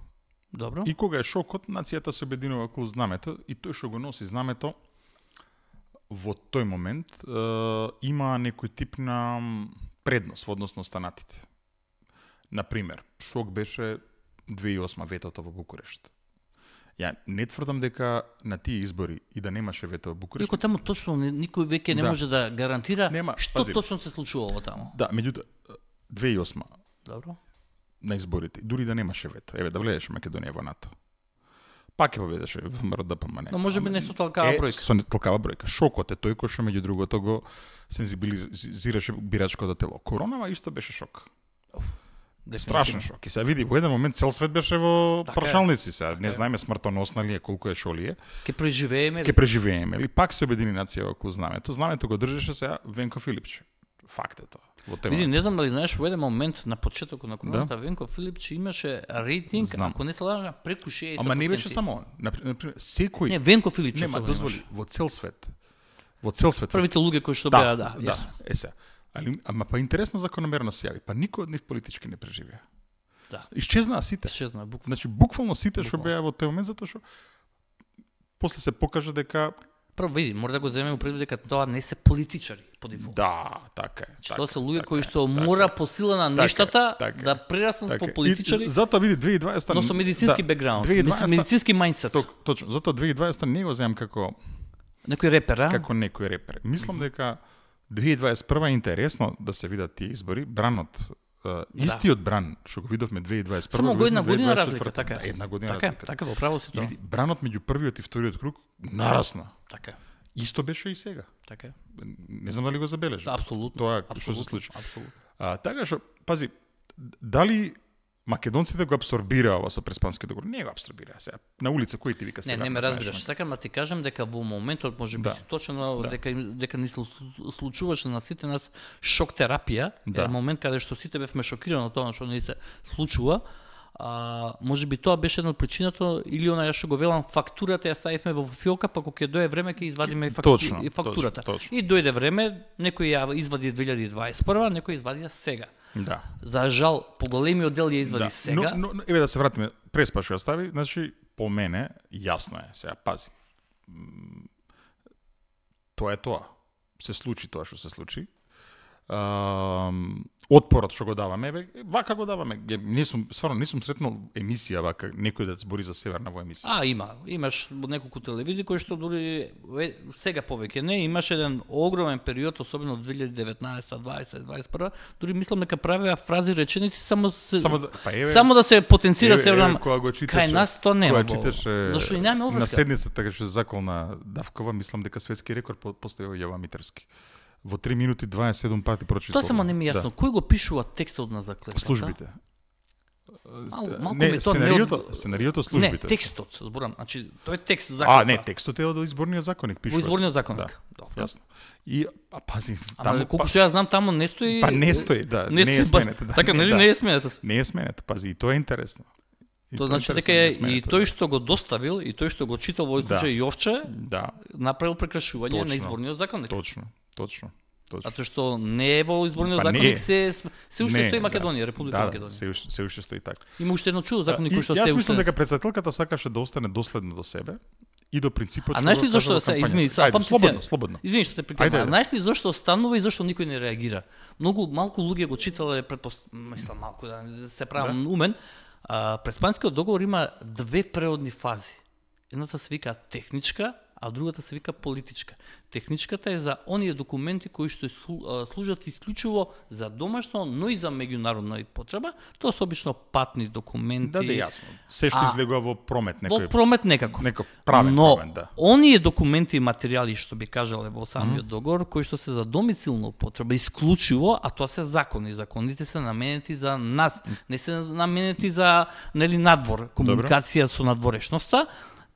Добро. И кога е шокот, нацијата се обединува околу знамето и тој што го носи знамето во тој момент е, има некој тип на предност во однос на останатите. Например, шок беше две илјади и осма ветото во Букурешт. Ја не тврдам дека на тие избори и да немаше вето во Букурешт. Иако таму точно не- никој веќе не Да. може да гарантира Нема, што пази. точно се случувало таму. Да, меѓутоа две илјади и осма Добро. на изборите, дури да немаше вето. Еве да влезеш Македонија во НАТО. пак ќе победеше ВМРО Д П М Н. Но може би не со толкава бројка. Со толкава бројка. Шокот е тој кој што меѓу другото го сензибилизираше бирачкото тело. Коронава исто беше шок. Страшен шок. И се види во еден момент цел свет беше во така прашалници се. Не знаеме смртоносна ли е, колку е, шо ли е. Ке преживееме. Ке преживееме ли? Пак се обедини нација околу знамето. Знамето го држеше сега Венко Филипче. Факт е тоа. Во тема. Види, не знам дали знаеш, во еден момент на почетокот на короната, да, Венко Филипче имаше рейтинг, знам, ако не се лажам, преку шеесет проценти. Ама не беше само он. Например, секој Не, Венко Филипче нема дозволи во цел свет. Во цел свет. Првите луѓе кои што да, беа, да. Да, е се. Али ама па интересна закономерно се јави. Па никој од нив политички не преживеа. Да. Исчезнаа сите. Исчезнаа буквално. Значи буквално сите што беа во тој момент затоа што после се покажа дека прво види, мора да го земеме предвид дека тоа не се политичари по дефолт. Да, така е. Тоа се луѓе кои што мора по сила на нештата да прераснат во политичари. Затоа види две илјади и дваесета но со медицински бекграунд, медицински мајндсет. Точно, затоа две илјади и дваесета не го земам како некој репер, а? Како некој репер. Мислам дека две илјади дваесет и прва е интересно да се видат тие избори, бранот Uh, истиот да. Бран што го видовме две илјади дваесет и прва. Само го една година разлика, така. Да, една година така, разлика. Така, во право си тоа. Бранот меѓу првиот и вториот круг нарасна. Така. Исто беше и сега. Така. Не знам дали го забележи. Апсолутно. Тоа што се случи. Апсолутно. А, така што, пази, дали македонците го абсорбираа ова со Преспански договор? Не го абсорбираа сега. На улица кој ти вика сега? Не, не ме разбираш. Сакам да ти кажам дека во моментот можеби да. точно да. дека дека ни се случуваше на сите нас шок терапија, да. Е момент каде што сите бевме шокирани од тоа што ни се случува. А, можеби тоа беше една од причината или она што го велам фактурата ја ставивме во фиока, па кога ќе дое време ќе извадиме факту... точно, и фактурата. Точно, точно. И дојде време, некој ја извади две илјади и дваесет и прва, некој извади сега. Да. За жал, поголемиот дел ја извади да. сега. Но, но еве да се вратиме, Преспа што ја стави, значи по мене јасно е, сега пази. Тоа е тоа. Се случи тоа што се случи. Uh, отпорот што го даваме, бе, вака го даваме. Не сум, стварно не сум сретнал емисија вака, некој да збори за Северна во емисија. А, има. Имаш неколку телевизии кои што дури е, сега повеќе не, имаш еден огромен период, особено од две илјади и деветнаесета, дваесета, дваесет и прва, дури мислам дека правеа фрази реченици само се, само, да, па еве, само да се потенцира Северна. Читаше, кај нас тоа нема. Читаше, зашто и немаме обврска. На седница така што заколна Давкова, мислам дека светски рекорд поставил Јова Митерски. Во три минути дваесет и седум пати прочитал. Тоа само не ми е јасно. Да. Кој го пишува текстот на заклетвата? Службите. Мал, малку не, ми тоа сценариото, не од... сценариото службите. Не, текстот, зборам. Значи, тоа е текст заклетва. А, не, текстот е од изборниот законник пишува. Во изборниот законник. Да. Добро. Јасно. И а пази, таму Ама, колку што ја знам таму не стои. Па не стои, да, не, не е сменета. Да, така, нели да. не е сменета. Не е сменета, пази, и тоа е интересно. И тоа значи дека е и тој што го доставил и тој што го читал во случај да. Јовче, да. направил прекршување точно, на изборниот законник. Точно, точно. Затоа што не е во изборниот па законник, се се уште не, стои Македонија, да, Република да, Македонија. се уште се уште стои така. Има уште едно чудо законник кој што се уште. Јас уште мислам дека претседателката сакаше да остане доследна до себе и до принципот што. А знаеш ли зошто се измени, са памти слободно, слободно. Извини што те прекинувам. Знаеш ли зошто останува и зошто никој не реагира? Многу малку луѓе го читале, предпост... мислам малку да се правам да. умен. А, Преспанскиот договор има две преодни фази. Едната се вика техничка, а другата се вика политичка. Техничката е за оние документи кои што служат исклучиво за домашно, но и за меѓународна потреба. Тоа се обично патни документи. Да, да, јасно. Се што излегува во промет некој. Во промет некако. Некој правен но, промет, да. оние документи и материјали што би кажале во самиот mm -hmm. договор, кои што се за домицилна употреба исклучиво, а тоа се закони. Законите се наменети за нас, не се наменети за нели надвор, комуникација Добре. со надворешноста.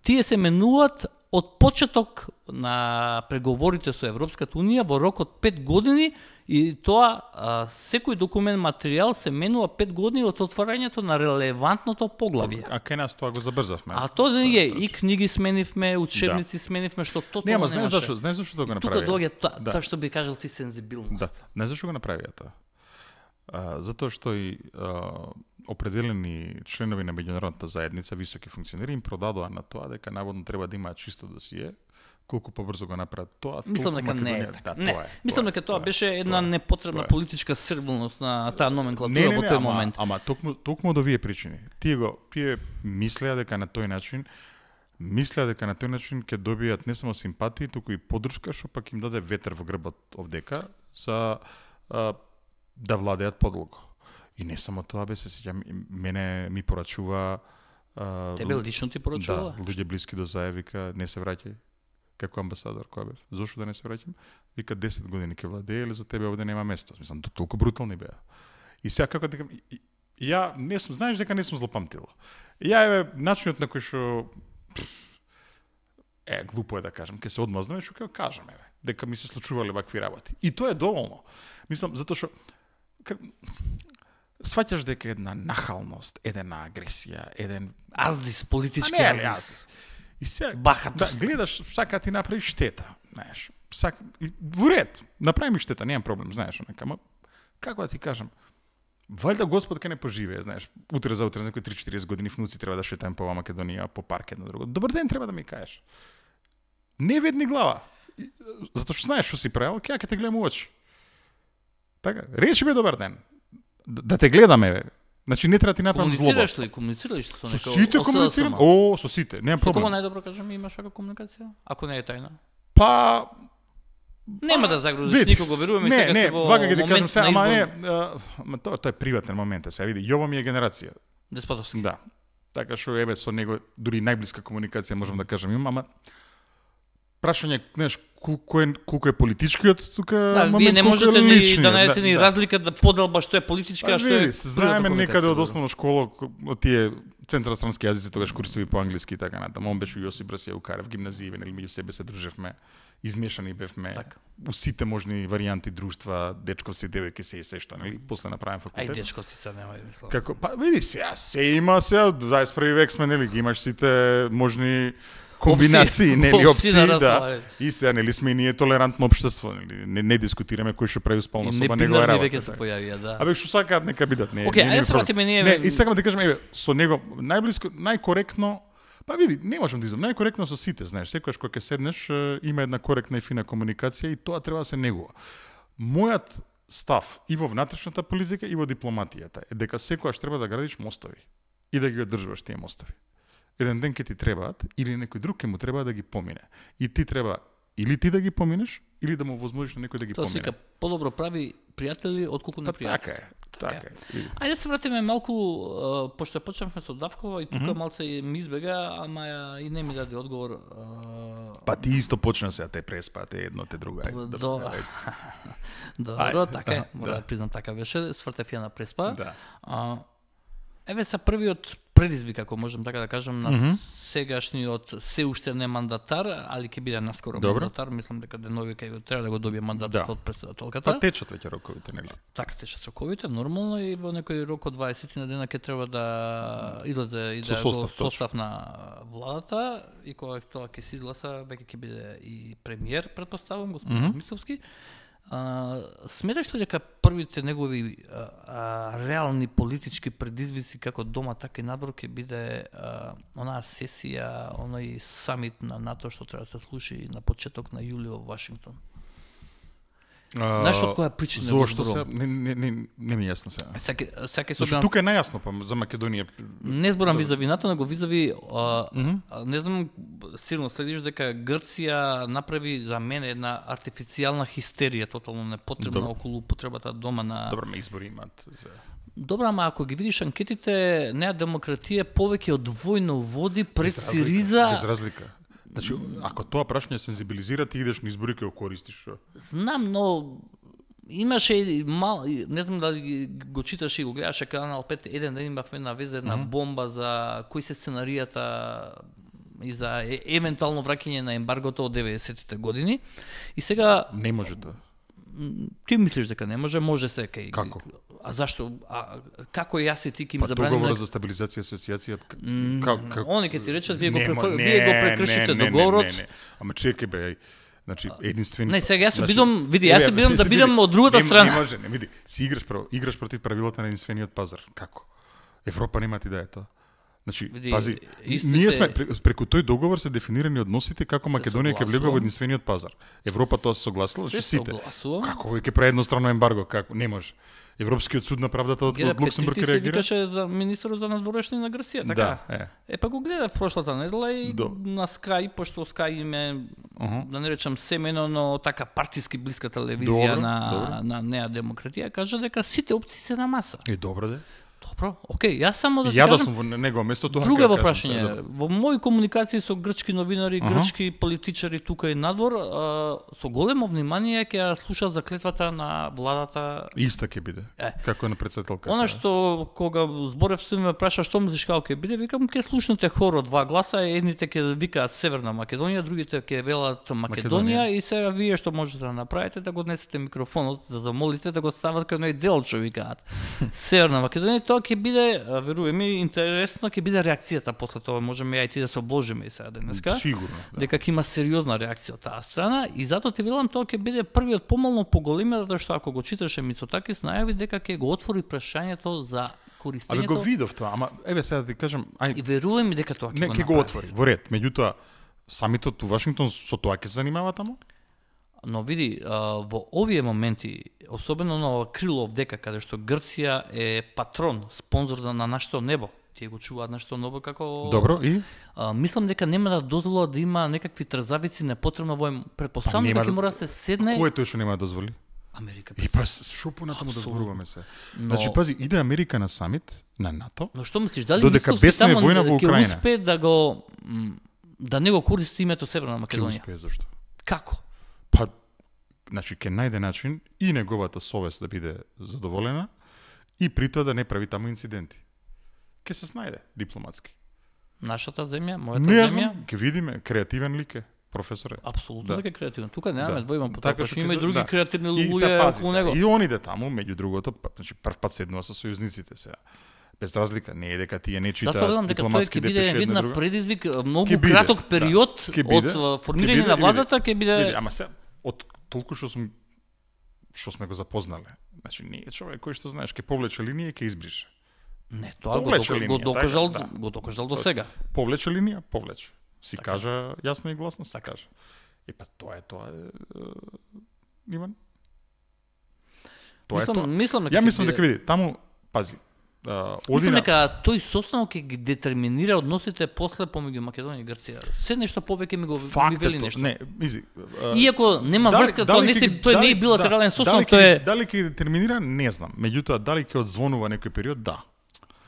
Тие се менуваат од почеток на преговорите со Европската Унија во рок од пет години и тоа а, секој документ материјал се менува пет години од отварањето на релевантното поглавје. А кај нас тоа го забрзавме. А тоа не е и книги сменивме, учебници да. сменивме, што тоа не, ама знаеш зашто, знаеш зашто тоа го направија? Тука доаѓа тоа, да. тоа што би кажал ти сензибилност. Да, не зашто го направија тоа. А, затоа што и а, определени членови на меѓународната заедница, високи функционери, им продадоа на тоа дека наводно треба да имаат чисто досие, колку побрзо го направат тоа. Мислам дека не е така. Да, не, тоа е, мислам дека тоа, тоа беше една тоа, непотребна тоа политичка сервилност на таа номенклатура не, не, не, во тој ама, момент. Ама токму токму од овие причини. Тие го тие мислеа дека на тој начин мислеа дека на тој начин ќе добијат не само симпатии, туку и поддршка, што пак им даде ветер во грбот овдека за а, да владеат подлого. И не само тоа, бе, се сеќам, мене ми порачува Тебе лично ти порачува? Да, луѓе блиски до Заев вика не се враќај како амбасадор кој бев. Зошто да не се враќам? Вика десет години ќе владее или за тебе овде нема место. Мислам толку брутални беа. И сега како дека ја не сум, знаеш дека не сум злопамтил. Ја еве начинот на кој што е глупо е да кажам, ќе се одмазнам и што ќе кажам еве, дека ми се случувале вакви работи. И тоа е доволно. Мислам затоа што как... сваќаш дека една нахалност, една агресија, еден аздис, политички а не, аздис. И се бахатост. Да, гледаш сака ти направи штета, знаеш. Сака во ред, направи ми штета, немам проблем, знаеш, нека, ама како да ти кажам, валјда Господ ке не поживее, знаеш, утре за утре, некои три-четириесет години внуци треба да шетаем по Македонија, по парк едно друго. Добар ден треба да ми кажеш. Не ведни глава. Затоа што знаеш што си правил, ќе ќе те гледам у очи. Така, речи ми добар ден. Да, да те гледаме, бе. Значи не треба ти направам злоба. Комуницираш ли, комуницираш со некој? Со сите комуницирам. О, со сите, немам проблем. Кога најдобро кажам имаш вака комуникација? Ако не е тајна. Па нема да загрузиш никого, веруваме сега се во вака ќе ти кажам момент сега, на ама избор. не, ама тоа тоа е приватен момент, сега види, Јово ми е генерација. Деспотовски. Да. Така што еве со него дури најблиска комуникација можам да кажам имам, ама прашање, знаеш, колку е колку е политичкиот тука Да, момент, вие не колку можете е ни личниот, да најдете ни да. разлика да поделба што е политичка, а што е Види, се знаеме природна некаде од комуникација, основна школа, од тие централстрански јазици, тогаш курсеви по англиски и така натаму. Он беше Јосип Брасија Укарев, гимназије, нели меѓу себе се дружевме, измешани бевме. Така. У сите можни варијанти друштва, дечковци, девојки се и се што, нели, после направен Ај факултет. дечковци се нема мислам. Како, па види сега, се има сега, дваесет и први век сме, нели, ги имаш сите можни комбинации, Опции. нели, Опции опции, на да. разговарање. И сега, нели, сме и ние толерантно општество, нели, не, не дискутираме кој што прави сполна И соба, него е небинарни работа. веќе се така. појавија, да. Абе што сакаат нека бидат, не. Океј, не, ајде не се проблем. вратиме ние. Не, и сакам да кажам, еве, со него најблиско, најкоректно, па види, не можам да изум, најкоректно со сите, знаеш, секогаш кога ќе седнеш, е, има една коректна и фина комуникација и тоа треба да се негува. Мојот став и во внатрешната политика и во дипломатијата е дека секогаш треба да градиш мостови и да ги одржуваш тие мостови. Еден ден ќе ти требаат или некој друг ќе му треба да ги помине. И ти треба или ти да ги поминеш или да му возможиш на некој да ги Тоа помине. сека подобро прави пријатели отколку Та, непријатели. така е. Така е. Види. Ајде се вратиме малку, а, пошто почнавме со Давкова и тука Мгм. малце ми избега, ама и не ми даде одговор. а, Па ти исто почна сега те преспа, те едно, те друго. Ајде, До- добро, ајде. Добро, Ајде, така е, да, мора да да. признам така беше, свртев ја на преспа. Да. А, еве са првиот предизвик, ако можам така да кажам, на Мгм. сегашниот се уште не мандатар, али ќе биде наскоро Добро. мандатар, мислам дека денови кај треба да го добие мандатот Да. од претседателката. Па течат веќе роковите, нели? Така течат роковите, нормално и во некој рок од дваесет на дена ќе треба да излезе и Со да состав, го точно. состав на владата и кога тоа ќе се изгласа, веќе ќе биде и премиер, претпоставам, господин Мгм. Мицовски. А, сметаш ли дека првите негови а, а, реални политички предизвици како дома, така и надвор ќе биде а, онаа сесија, оној самит на НАТО што треба да се слуши на почеток на јули во Вашингтон? Знаеш од која причина го Зошто се? зборувам? Не, не, не, не ми е јасно сега. Саке, саке Зашто собирам, тука е најасно па за Македонија. не зборам визави НАТО, него визави, а, Мгм. а, не знам, сигурно следиш дека Грција направи за мене една артифицијална хистерија, тотално непотребна Добро. околу употребата дома на... Добро, ме избори имаат. Добра, ама ако ги видиш анкетите, неа демократија повеќе од двојно води пред Без разлика, Сириза. Без разлика. Значи, ако тоа прашање сензибилизира, ти идеш на избори ќе го користиш. Шо? Знам, но имаше и мал, и не знам дали ги- го читаше и го гледаше Канал пет, еден ден имавме на веза една Мгм. бомба за кои се сценаријата и за е, евентуално враќање на ембаргото од деветдесетите години. И сега Не може тоа. м, ти мислиш дека не може, може се кај. Како? А зашто? А како јас и ти ќе им Па забраниме? договорот за стабилизација и асоциација. к- М, Како како Они ќе ти речат вие го Нема, префр... не, вие го прекршивте не, не, договорот. Не, не, не. Ама чекај бе, значи единствен. Не, сега јас се значи, бидам, види, јас се еве, бидам да види, бидам од другата не- страна. Не може, не види. Си играш право, играш против правилата на единствениот пазар. Како? Европа нема ти да е тоа. Значи, Види, пази, истите- ние сме пре- преку тој договор се дефинирани односите како Македонија ќе влегува во согласувам. единствениот пазар. Европа тоа се согласила, Се значи сите. согласувам. Како ќе прави еднострано ембарго, како? Не може. Европскиот суд на правдата од, Гера од Луксембург Петрити се реагира. викаше за министерот за надворешни на Грција, така? Да, е. Е, па го гледав прошлата недела и До. на Sky, пошто Sky им е, Аха. да не речам семено, но така партиски блиска телевизија Добро, на, добро. на Неа Демократија, кажа дека сите опции се на маса. Е, добро де. Добро, окей, јас само да ти Ја да кажам, сум во негово место тоа. друго ќе кажам прашање. сега, да. Во мои комуникации со грчки новинари, Аха. грчки политичари тука и надвор, а, со големо внимание ќе ја слушаат за клетвата на владата. Иста ќе биде. Е. Како е на председателката. Она што кога зборев со ме праша што мислиш како ќе биде, викам ќе слушнете хор од два гласа, едните ќе викаат Северна Македонија, другите ќе велат Македонија, Македонија. и сега вие што можете да направите да го однесете микрофонот, да замолите да го стават кај едно дел што викаат. Северна Македонија, тоа ќе биде, верувај ми, интересно ќе биде реакцијата после тоа, можеме ја и ти да се обложиме и сега денеска. Сигурно. Да. Дека ќе има сериозна реакција од таа страна и затоа ти велам тоа ќе биде првиот помално поголемија, затоа што ако го читаше Мицотакис најави дека ќе го отвори прашањето за користењето. Абе го видов тоа, ама еве сега да ти кажам, ај И верувај ми дека тоа ќе не го ќе го направи. отвори во ред. Меѓутоа самитот у Вашингтон со тоа ќе се занимава таму? Но види, а, во овие моменти, особено на ова крило од дека каде што Грција е патрон, спонзор на нашето небо, тие го чуваат нашето небо како Добро, и А, мислам дека нема да дозволат да има некакви трзавици непотребно во предпоставам Па нема дека ќе да- мора да се седне кој е тој што нема да дозволи? Америка. И па шо понатаму да Апсолутно. зборуваме се. Но- Значи пази, иде Америка на самит на НАТО. Но што мислиш, дали Додека Мицковски бесна е таму војна во ќе Украина. успее да го м, да не го користи името Северна Ќе Македонија? успее зашто? Како? Па значи ќе најде начин и неговата совест да биде задоволена и при тоа да не прави таму инциденти. Ќе се снајде дипломатски. Нашата земја, мојата Не ја земја, знам, ќе видиме, креативен лик е, професоре. апсолутно Да. дека е креативен. Тука немаме Да. двојма по тоа, Така што што има и ќе се- други да. креативни И се луѓе пази околу се. него. И он иде таму, меѓу другото, па, значи прв пат седнува со сојузниците сега. Без разлика, не е дека тие не читаат Затоа велам дека тој дипломатски ќе биде депеши една една друга. предизвик, многу Ќе биде, краток да. период Ќе биде, од ќе формирање биде, на и владата види, ќе биде види, ама се од толку што сум што сме го запознале. Значи не е човек кој што знаеш ќе повлече линија и ќе избрише. не, тоа го, повлече дока- го линија, докажал, така, да. го докажал до Точно. сега. Повлече линија, повлече. Си Така. кажа јасно и гласно, се кажа. И па тоа е тоа е, е Иван. Тоа е Мислам, тоа. мислам дека Ја ќе мислам биде- дека види, таму пази. а, оди Мислам на- дека тој состанок ќе ги детерминира односите после помеѓу Македонија и Грција. Се нешто повеќе ми го ми Факт вели е нешто. тоа. Не, изи. а, Иако нема дали- врска, дали тоа не ќе се ги- тој не дали- е билатерален да, состанок, дали тој ќе- е Дали ќе детерминира, не знам. Меѓутоа, дали ќе одзвонува некој период, да.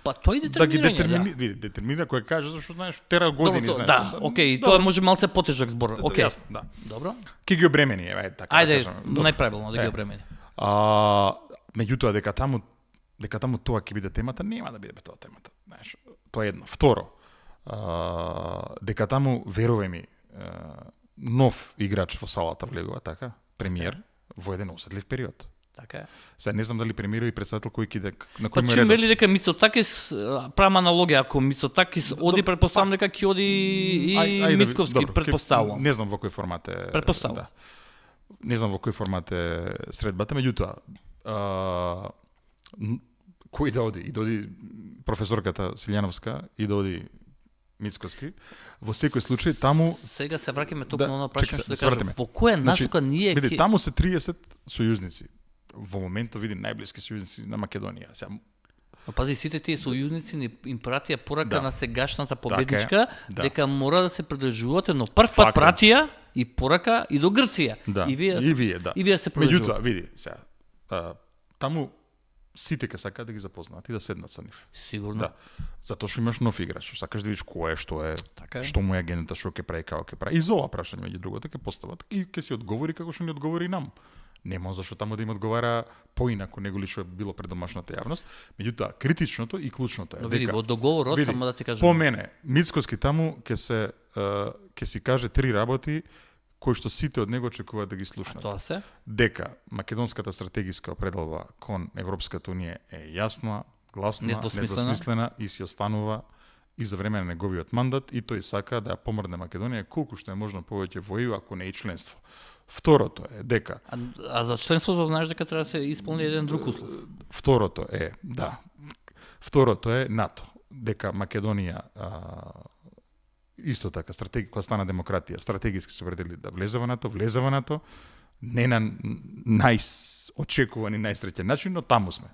па тој Да ги детерминирање. детермини, Да. види, детерминира кој каже зашто знаеш тера Добро, години то- знаеш. да, окей, Добро, тоа може малце потежок збор. Окей. јасно, да. Добро. Ќе ги обремени, еве, така Ајде, да кажам. Добро. најправилно да ги Е. обремени. А, меѓутоа дека таму дека таму тоа ќе биде темата, нема да биде бе тоа темата, знаеш. Тоа е едно. Второ, а, дека таму верувај ми, а, нов играч во салата влегува, така, премиер во еден осетлив период. Така е. Сега не знам дали премиерот и председател кој киде на Па кој му е чим редот. вели дека Мицотакис, а, правам аналогија, ако Мицотакис оди, предпоставам дека ќе оди и Ај- ајде да ви- Мицковски, добро, ќе- предпоставувам. Не знам во кој формат е. Претпоставувам. Да. Не знам во кој формат е средбата, меѓутоа, а, н- кој да оди? И да оди професорката Силјановска и да оди Мицковски. Во секој случај таму Сега се враќаме токму Да, на оно чекай прашање се, што да свртиме. кажам. Во која Значи, насока ние види, ќе таму се триесет сојузници. Во моментот види најблиски сојузници на Македонија. Сега Но пази, сите тие сојузници ни им пратија порака Да. на сегашната Така е, победничка да. дека мора да се придржувате, но прв пат Факт е. пратија и порака и до Грција. Да. И вие, и вие, да. и вие се Меѓутоа, придржувате. види, сега, а, таму сите ќе сакаат да ги запознаат и да седнат со нив. Сигурно. Да. Затоа што имаш нов играч, сакаш да видиш кој е, што е, Така е. што му е агентата, што ќе прави, како ќе прави. И за ова прашање меѓу другото ќе постават и ќе си одговори како што ни одговори и нам. Нема зашто таму да им одговара поинаку него ли што било пред домашната јавност. Меѓутоа, критичното и клучното е Но види, дека во договорот, види, само да ти кажам. по мене, Мицковски таму ќе се е, ќе си каже три работи кои што сите од него очекуваат да ги слушнат. Тоа се? Дека македонската стратегиска определба кон Европската унија е јасна, гласна, Недвосмислена. недвосмислена и си останува и за време на неговиот мандат и тој сака да ја помрне Македонија колку што е можно повеќе во Е Ју, ако не и членство. Второто е дека А, а за членството знаеш дека треба да се исполни еден друг услов. Второто е, да. Второто е НАТО. Дека Македонија а, исто така стратеги кога стана демократија, стратегиски се определи да влезе во НАТО, влезе во НАТО, не на најочекуван и најсреќен начин, но таму сме.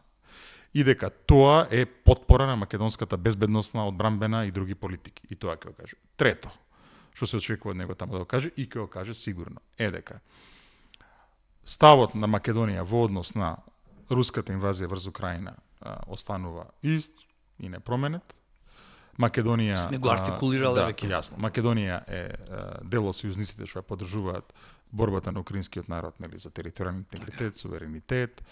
И дека тоа е потпора на македонската безбедносна, одбранбена и други политики. И тоа ќе го каже. Трето, што се очекува од него таму да го каже и ќе го каже сигурно, е дека ставот на Македонија во однос на руската инвазија врз Украина а, останува ист и непроменет. Македонија Сме го артикулирале да, веќе. Јасно. Македонија е а, дел од сојузниците што ја поддржуваат борбата на украинскиот народ, нели, за територијален интегритет, суверенитет.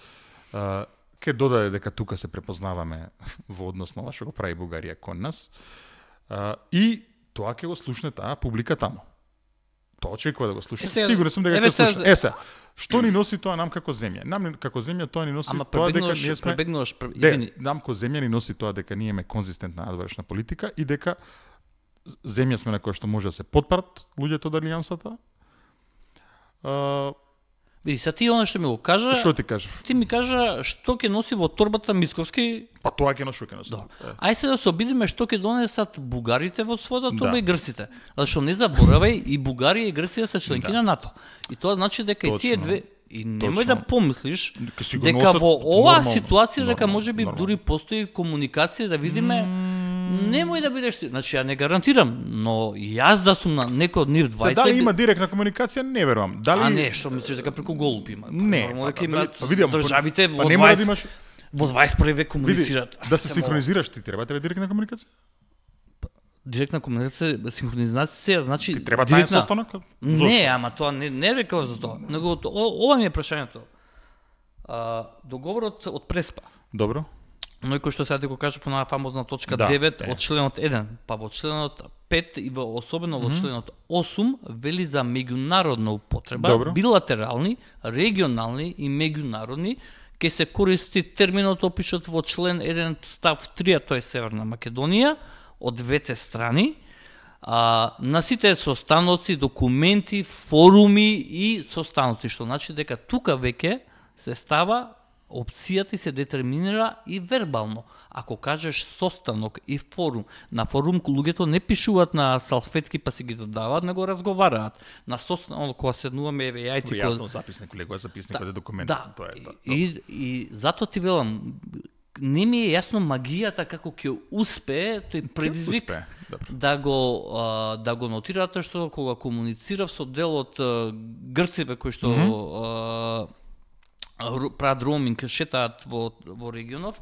А, ке додаде дека тука се препознаваме во однос на ова што го прави Бугарија кон нас. А, и тоа ќе го слушне таа публика таму. Тоа очекува да го слуша. Сигурен сум дека ќе слуша. Е се, што ни носи тоа нам како земја? Нам како земја тоа ни носи Ама тоа дека ние сме пребегнуваш, Де, нам како земја ни носи тоа дека ние имаме конзистентна надворешна политика и дека земја сме на која што може да се потпрат луѓето од алијансата. Uh, Види, са ти оно што ми го кажа. Што ти кажа? Ти ми кажа што ќе носи во торбата Мицковски. Па тоа ќе носи, што ќе носи. Да. Ај се да се обидиме што ќе донесат бугарите во својата торба да. и грците. Зашто не заборавај, и Бугарија и Грција се членки да. на НАТО. И тоа значи дека Точно. и тие две и немој Точно. да помислиш дека носат во оваа нормално, ситуација дека нормално, можеби нормално. дури постои комуникација да видиме немој да бидеш ти. Значи ја не гарантирам, но јас да сум на некој од нив двајца. Се дали има директна комуникација, не верувам. Дали А не, што мислиш дека преку голуб има? Не, Нормално па, дека дали- имаат па, види, ама, државите па во не мора да дваесет имаш во дваесет и први век види, комуницираат. да се Ајде, синхронизираш, ти треба тебе директна комуникација? Директна комуникација, синхронизација, значи Ти треба тајен директна- состанок? Не, ама тоа не не рекав за тоа. Него о- ова ми е прашањето. А, договорот од Преспа. Добро. Но и кој што сега ти го кажав на фамозна точка Да, девет е. од членот еден, па во членот пет и во особено во членот осум вели за меѓународна употреба, Добро. билатерални, регионални и меѓународни, ќе се користи терминот опишот во член еден став три, а тоа е Северна Македонија, од двете страни, а, на сите состаноци, документи, форуми и состаноци, што значи дека тука веќе се става опцијата и се детерминира и вербално. Ако кажеш состанок и форум, на форум луѓето не пишуваат на салфетки па си ги додаваат, него разговараат. На состанок кога седнуваме, еве ја и ти Јасно записник, лего записник Да, од документ, да, тоа е тоа. И, и затоа ти велам, не ми е јасно магијата како ќе успее тој предизвик успее, добро. да го а, да го нотирате, што кога комуницирав со дел од а, грците кои што mm -hmm. прават роуминг, шетаат во, во регионов,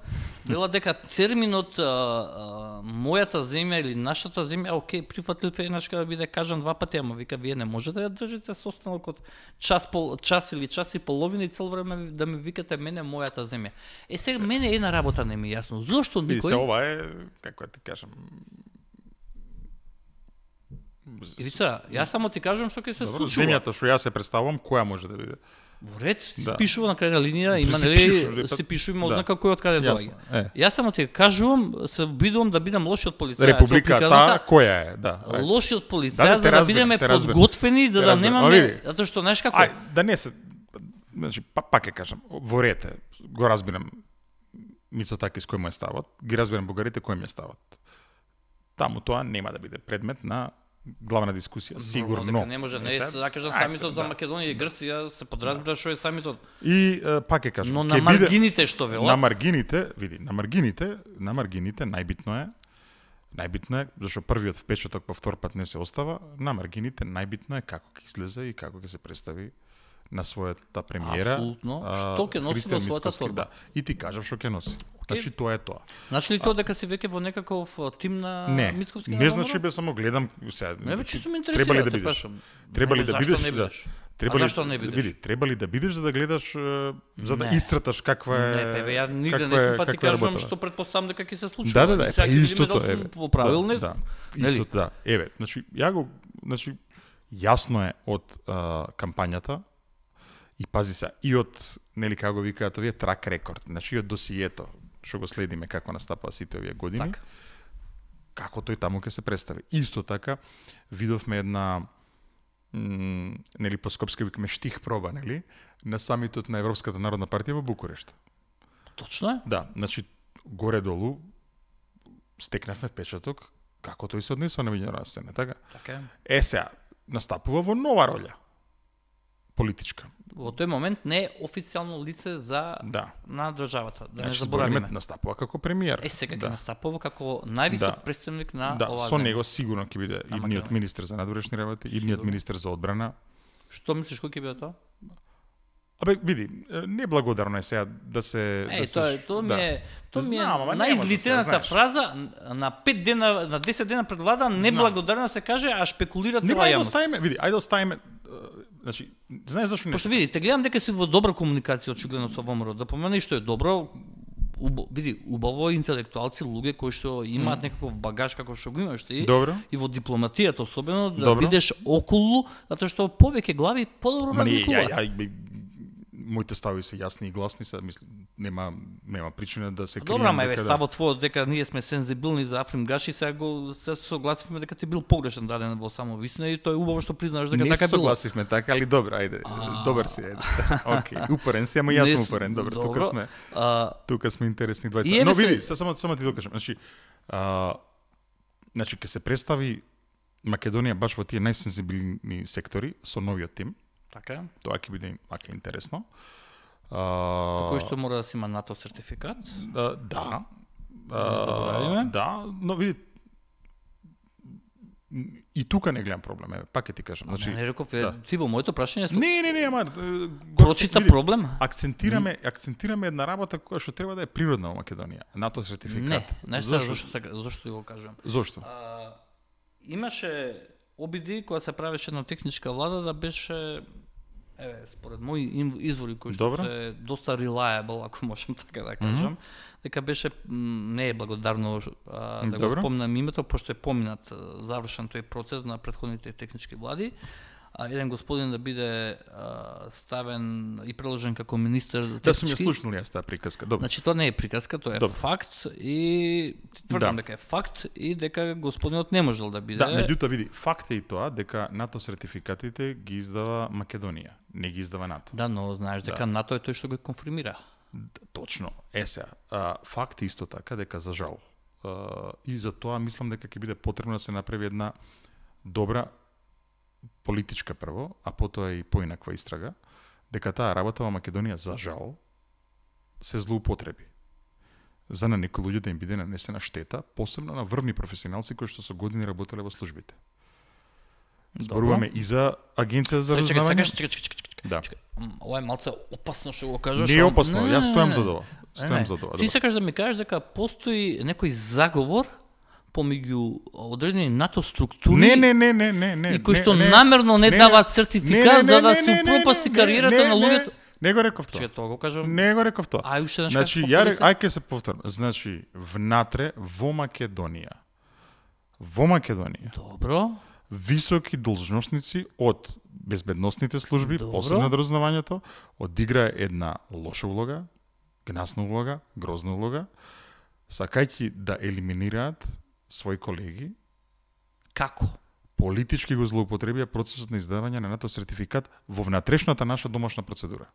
вела дека терминот а, а, мојата земја или нашата земја, окей, прифатил пенашка да биде кажан два пати, ама вика, вие не можете да држите состанок од час, пол, час или час и половина и цел време да ми викате мене мојата земја. Е, сега се... мене една работа не ми е јасно. Зошто Види никој... се, ова е, како да ти кажам... Ивица, јас само ти кажам што ќе се Добро, случува. земјата што јас се представувам, која може да биде? Во ред, се Да. пишува на крајна линија, има Се нели пишува, се пишува има да. ознака кој од каде Јасно, доаѓа. е. Јас само ти кажувам, се обидувам да бидам лошиот полицај. Републиката, која е, да. ај. Лошиот полицај, Да, да, те за да разбирам, бидеме те разбирам. подготвени, за Те да разбирам. Ма, немаме, види. затоа што знаеш како? Ај, да не се, значи, па, пак ќе кажам, во рете, го разбирам Мицотакис кој му е ставот, ги разбирам бугарите кој ми е ставот. Таму тоа нема да биде предмет на главна дискусија, сигурно. Дека не може, не е, Сега- да кажам, ај, самитот се, за да. Македонија и Грција се подразбира што е самитот. И е, пак ќе кажам, Но ќе на биде- маргините што на велат, маргините, види, на маргините, на маргините најбитно е најбитно е зашто првиот впечаток по втор пат не се остава, на маргините најбитно е како ќе излезе и како ќе се представи на својата премиера. Апсолутно. а, Што ќе носи Христијан во својата Мицкоски, торба. Да. И ти кажав што ќе носи. Значи тоа е тоа. значи ли тоа дека си веќе во некаков а, тим на Не, Мицковски? не значи бе само гледам сега. Не бе, чисто ме Треба ли интересира, да те бидеш? прашам. Треба ли Него, да зашто бидеш? не Да. бидеш? Треба А ли зашто не бидеш? Види, треба ли да бидеш за да гледаш е, за да Не. истраташ каква е Не, бе, бе, ја нигде каква не е- сум па ти каква е кажувам работата. што предпоставам дека ќе се случува. Да, да, да, И е, сега па ќе видиме истото дали е. сум бе. во правил, не да, сум. да, Нели? истото, да. Еве, значи ја го значи јасно е од а, кампањата и пази се и од нели како го викаат овие трак рекорд, значи и од досието што го следиме како настапува сите овие години. Така. Како тој таму ќе се представи. Исто така видовме една м, нели по скопски викаме штих проба, нели, на самитот на Европската народна партија во Букурешт. Точно е. Да, значи горе-долу стекнавме впечаток како тој се однесува на меѓународна сцена, така? Така е. Е сега настапува во нова роља политичка. Во тој момент не е официјално лице за Да. на државата, да не Значи, заборавиме. збориме, настапува како премиер. Е, сега ќе да. настапува како највисок Да. представник на Да, оваа со земја. него сигурно ќе биде На идниот Македонија. министер за надворешни работи, идниот Сигурно. министер за одбрана. Што мислиш кој ќе биде тоа? Абе, види, неблагодарно е сега да се... Е, да тоа се, тоа ми да. е, тоа ми е Знам, ама не најизлитената може да се, фраза на пет дена, на десет дена пред влада, неблагодарно се каже, а шпекулира Не, цела ајде јавност. оставиме, види, ајде оставиме, значи, знаеш зашто не? Пошто видите, гледам дека си во добра комуникација очигледно со ВМРО. Да помена и што е добро, убо, види, убаво е интелектуалци, луѓе кои што имаат mm. некаков багаж како што го имаш ти. Добро. И во дипломатијата особено да Добро. бидеш околу, затоа што повеќе глави подобро Ма не, ја, размислуваат. ја, моите стави се јасни и гласни, се мислам, нема нема причина да се крием. Добро, ама еве дека да- ставот твојот дека ние сме сензибилни за Африм Гаши, сега го се согласивме дека ти бил погрешен даден во само вистина и тоа е убаво што признаваш дека Не така се било. согласивме така, али добро, ајде. Добар си, ајде. Океј, упорен си, ама јас Не сум с- упорен, добро, тука добро. сме. А, Тука сме интересни И двајца. еве Но се- види, се само само ти докажам, значи а, значи ќе се представи Македонија баш во тие најсензибилни сектори со новиот тим. така е. Тоа ќе биде ака интересно. За А, кој што мора да си има НАТО сертификат. а, да. не заборавиме. Да, но види и тука не гледам проблем, еве, пак ќе ти кажам. Значи, Значи, не реков, е, да. ти во моето прашање со... Не, не, не, ама е, го прочита види, проблем. Акцентираме, акцентираме една работа која што треба да е природна во Македонија. НАТО сертификат. Не, знаеш Зошто? зашто, зашто, зашто ти го кажам. Зошто? А, имаше обиди кога се правеше на техничка влада да беше, еве, според мои им- извори кои што Добро. се доста reliable, ако можам така да кажам, дека беше м, не е благодарно а, да Добро. го спомнам името, пошто е поминат а, завршен тој процес на претходните технички влади. А еден господин да биде а, ставен и преложен како министер Да сум ја технички. слушнал јас таа приказка. Добро. Значи тоа не е приказка, тоа е Добро. факт и ти тврдам Да. дека е факт и дека господинот не можел да биде. Да, меѓутоа види, факт е и тоа дека НАТО сертификатите ги издава Македонија, не ги издава НАТО. Да, но знаеш дека НАТО е тој што го конфирмира. Д- Точно. Е сега, а, факт е исто така дека за жал а, и за тоа мислам дека ќе биде потребно да се направи една добра политичка прво, а потоа и поинаква истрага, дека таа работа во Македонија за жал се злоупотреби. За на некои луѓе да им биде нанесена штета, посебно на врвни професионалци кои што со години работеле во службите. Зборуваме и за Агенција за Чекај, чекај, разузнавање. чекај, чекај, чекај, чекај, Да. чекај. М, Ова е малце опасно што го кажеш. Не е ама- опасно, не, јас не, стојам не, за тоа. не, Стојам не. за тоа. Ти добро. сакаш да ми кажеш дека постои некој заговор помеѓу одредени НАТО структури Не, не, не, не, не, не. и кои не, што не, намерно не не, даваат не, сертификат не, за да не, се не, не, упропасти не, кариерата не, на не, луѓето. Не го реков тоа. Че тоа го кажам. Не го реков тоа. Ај уште еднаш Значи, кажи, ја повтори рек, се. ај ке се повторам. Значи, внатре во Македонија, во Македонија, Добро. високи должностници од безбедносните служби, Добро. посебно од разузнавањето, одиграа една лоша улога, гнасна улога, грозна улога, сакајќи да елиминираат своји колеги, Како? политички го злоупотребија процесот на издавање на НАТО сертификат во внатрешната наша домашна процедура.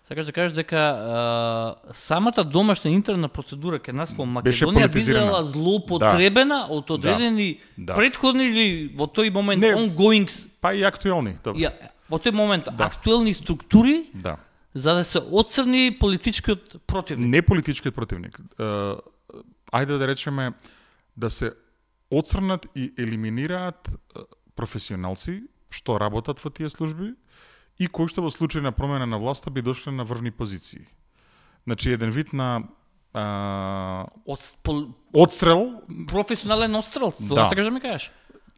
Сакаш да кажеш дека а, самата домашна интерна процедура ке нас во Беше Македонија политизирана. бидела злоупотребена од одредени Да. претходни или во тој момент Не. ongoing с- Па и актуелни, добро. ја, во тој момент Да. актуелни структури Да. за да се отцрни политичкиот противник. Не политичкиот противник. Е, ајде да речеме да се отцрнат и елиминираат е, професионалци што работат во тие служби и кои што во случај на промена на власта би дошле на врвни позиции. Значи еден вид на а, Од пол, одстрел професионален отстрел, Да. тоа сакаш да ми кажеш.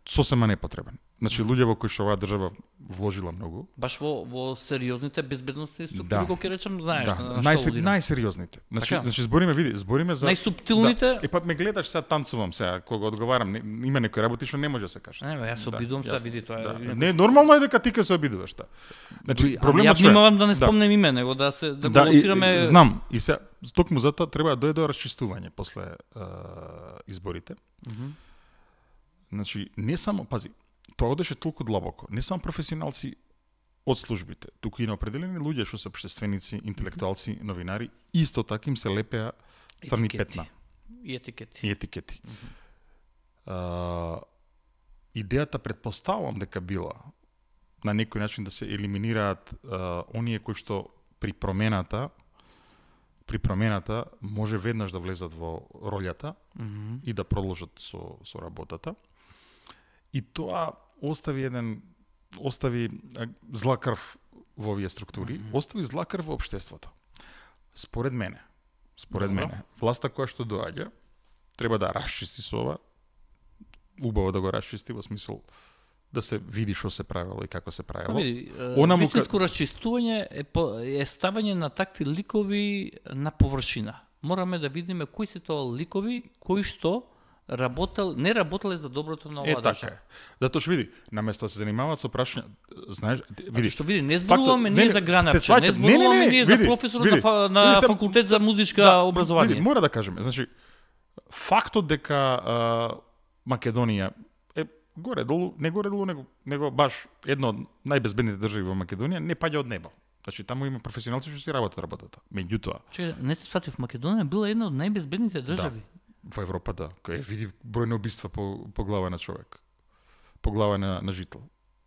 сосема непотребен. Значи луѓе во кои што оваа држава вложила многу. Баш во во сериозните безбедносни структури, Да. кога ќе речем, знаеш, Да, на, на најсер, што алудирам. најсериозните. Значи, Така. значи збориме, види, збориме за Најсуптилните- Да. И па ме гледаш сега танцувам сега кога одговарам, не, има некои работи што не може да се каже. Не, бе, јас се обидувам сега, јасно. види тоа. Да. е- Не, нормално е дека ти ке се обидуваш та. Значи, Ама проблемот ја што е- внимавам да не спомнем име, него да се да, Да, го и, лоцираме. и, знам. И се токму затоа треба да дојде до расчистување после е, изборите. Значи, не само, пази, тоа одеше толку длабоко. Не само професионалци од службите, туку и на определени луѓе што се општественици, интелектуалци, новинари, исто така им се лепеа црни Етикети. петна И етикети. и етикети. А, идејата предпоставувам дека била на некој начин да се елиминираат а, оние кои што при промената при промената може веднаш да влезат во ролјата Мгм. и да продолжат со со работата. И тоа остави еден остави а, зла крв во овие структури, mm -hmm. остави зла крв во општеството. Според мене, според Добро. мене, власта која што доаѓа, треба да расчисти со ова, убаво да го расчисти во смисол да се види што се правело и како се правело. Види, вистинско му... расчистување е, по, е ставање на такви ликови на површина. Мораме да видиме кои се тоа ликови, кои што работел, не работеле за доброто на оваа држава. Е, така е. Затоа што види, наместо да се занимаваат со прашања, знаеш, види, што види, не зборуваме ние за Гранапче, не зборуваме ние за професор види, на, на види, факултет за музичка да, образование. Види, мора да кажеме, значи фактот дека а, Македонија е горе-долу, не горе-долу, него, него баш една од најбезбедните држави во Македонија, не паѓа од небо. Значи таму има професионалци што си работат работата. Меѓутоа, че не се сватив, Македонија била една од најбезбедните држави. Да. Во Европа, да. Кај види број на убиства по, по глава на човек. По глава на, на жител.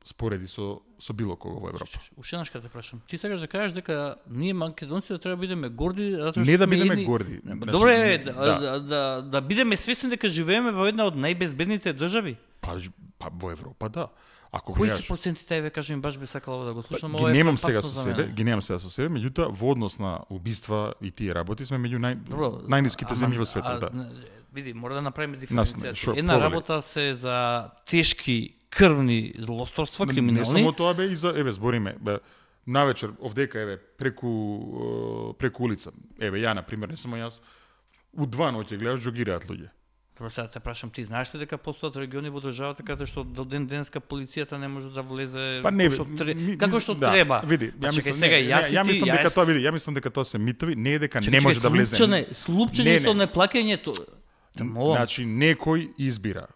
Спореди со, со било кого во Европа. Уште еднаш те прашам. Ти сакаш да кажеш дека ние македонците треба да бидеме горди, затоа што не да бидеме едни... горди. Добре, да, да, да, да, да бидеме свесни дека живееме во една од најбезбедните држави. Па, па во Европа, да. Ако кои гледаш... се процентите, еве кажем, баш би сакала да го слушам, ги немам сега со себе, ги немам сега со себе, меѓутоа во однос на убиства и тие работи сме меѓу нај најниските земји во светот, да. Види, мора да направиме диференцијација. Шо, една провали. Работа се за тешки крвни злосторства, криминални. Не само тоа бе и за, еве збориме, бе, навечер овдека еве преку преку улица. Еве ја на пример, не само јас, у два ноќе гледаш џогираат луѓе. Прво сега те прашам, ти знаеш ли дека постојат региони во државата каде што до ден денеска полицијата не може да влезе па не, што тре... ми, како што да, треба? Види, ја мислам, сега не, јас ја, ја мислам ти, дека јас... тоа види, ја мислам дека тоа се митови, не е дека чекай, не може чекай, да влезе. Слупчене, слупчење со неплаќањето. Значи некој избира.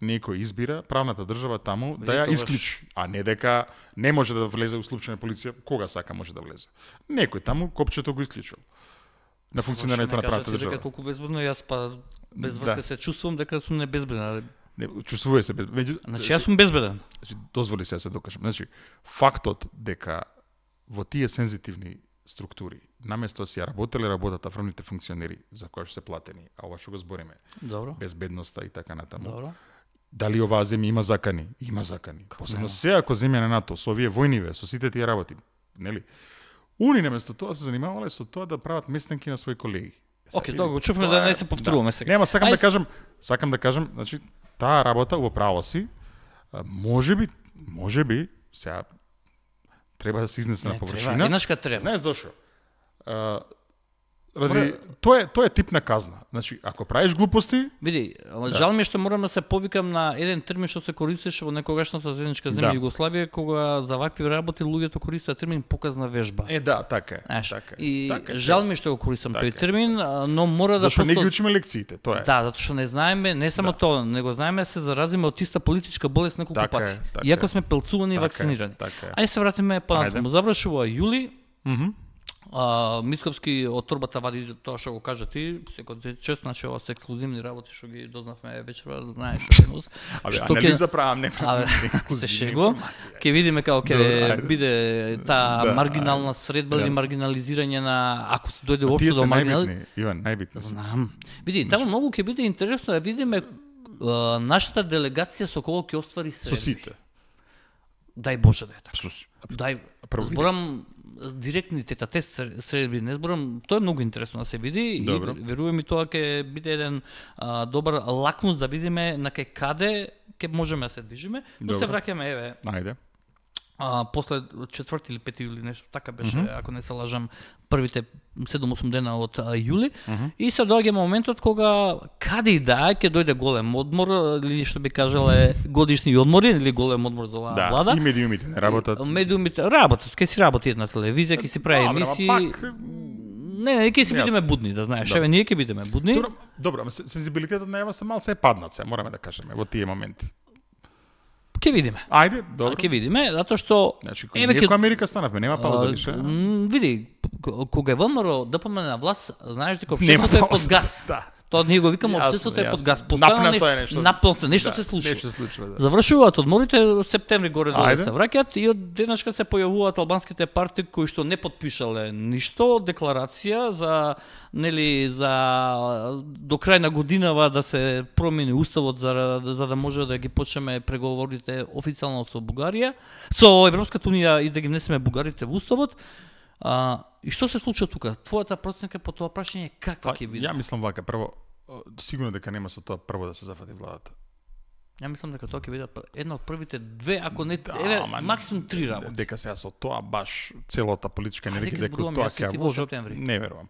Некој избира правната држава таму да ја исклучи, а не дека не може да влезе у случај на полиција, кога сака може да влезе. Некој таму копчето го исклучил. На функционирањето на правната држава. Дека толку безбедно, јас па без врска да. Се чувствувам дека сум небезбеден. Не, чувствуваме се безбеден. Меѓу... Значи јас сум безбеден. Значи дозволи се да се докажам. Значи фактот дека во тие сензитивни структури, наместо да си ја работеле работата врвните функционери за кои што се платени, а ова што го збориме. Добро. Безбедноста и така натаму. Добро. Дали оваа земја има закани? Има закани. Посебно се ако земја на НАТО, со овие војниве, со сите тие работи, нели? Уни наместо тоа се занимавале со тоа да прават местенки на своји колеги. Океј, тоа го чувме да не се повторуваме да. сега. Нема, сакам Ајс... да кажам, сакам да кажам, значи таа работа во право си, можеби, можеби сега треба да се изнесе не, на површина. Еднашка треба. Знаеш зошто? Ради, тоа е тоа е тип на казна. Значи, ако правиш глупости, види, жал ми е што морам да се повикам на еден термин што се користеше во некогашната заедничка земја да. Југославија, кога за вакви работи луѓето користеа термин показна вежба. Е, да, така е. Еш, така е. И така е, жал ми е што го користам така тој термин, но мора да зашто не ги учиме лекциите, тоа е. Да, затоа што не знаеме, не само да. Тоа, него знаеме се заразиме од иста политичка болест неколку така пати. Е, така Иако сме пелцувани така и вакцинирани. Така Ајде се вратиме понатаму. Завршува јули. Мхм. А, Мисковски од торбата вади тоа што го кажа ти, секој чест, значи ова се ексклузивни работи што ги дознавме вечера, знаеш што е нус. Што ќе заправам не ексклузивни информации. Ќе видиме како ќе биде таа да, маргинална средба или маргинализирање на ако се дојде општо до маргинал. Иван, најбитни. Знам. Види, таму многу ќе биде интересно да видиме нашата делегација со кого ќе оствари средби. Со сите. Дај Боже да е така. Дај, зборам директни тета-тет средби, не зборам, тоа е многу интересно да се види. Добро. И верувам и тоа ќе биде еден а, добар лакмус да видиме на кај каде ќе можеме да се движиме, но се враќаме еве. Ајде. А, после четврти или пети јули нешто така беше, mm -hmm. ако не се лажам, првите седум-осум дена од а, јули. Mm -hmm. И се доаѓа моментот кога каде и да ќе дојде голем одмор, или што би кажале годишни одмори, или голем одмор за оваа да, влада. И медиумите не работат. Медиумите работат, ќе си работи една телевизија, ќе си прави емисии. Пак... Не, не, ќе си бидеме будни, да знаеш. Еве ние ќе бидеме будни. Добро, добро, сензибилитетот на Ева се малце е паднат се, мораме да кажеме во тие моменти. Ќе видиме. Ајде, добро. Ќе видиме, затоа што значи, еве ќе Америка станавме, нема пауза више. Види, кога е ВМРО ДПМН на власт, знаеш дека општеството е под газ. Да. Тоа ние го викаме Јасно, општеството е под јасно. газ. Постојано Напнато е нешто, нешто. напнато, нешто Да, се случува. Нешто се случува, да. Завршуваат одморите, септември горе доле Ајде. се враќаат и од денешка се појавуваат албанските партии кои што не потпишале ништо, декларација за нели за до крај на годинава да се промени уставот за за да може да ги почнеме преговорите официјално со Бугарија, со Европската унија и да ги внесеме бугарите во уставот. А, и што се случува тука? Твојата проценка по тоа прашање каква Па, ќе биде? ја мислам вака, прво, сигурно дека нема со тоа прво да се зафати владата. Ја мислам дека тоа ќе биде една од првите две, ако не, Да, еве, ама максимум три работи. Дека сега со тоа баш целата политичка Ајде енергија ги дека зборуваме тоа јас и ќе ти ја во вложат, септември. не верувам.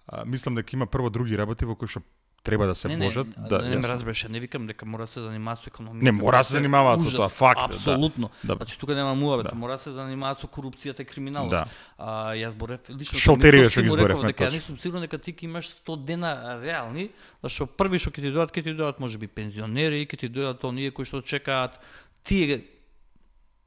А, мислам дека има прво други работи во кои што треба да се Не, не, вложат, да, да не ме јас- разбереш, не викам дека мора да се занимава со економија. Не, мора да се занимаваат со тоа, факт е, да. Апсолутно. Да. Значи тука нема муабет, Да. мора да се занимава со корупцијата и криминалот. Да. А јас зборев лично Шалтерија што ги му зборевме, реков дека ја точно. не сум сигурен дека ти ќе имаш сто дена реални, зашто први што ќе ти дојдат, ќе ти дојдат можеби пензионери, ќе ти дојдат оние кои што чекаат тие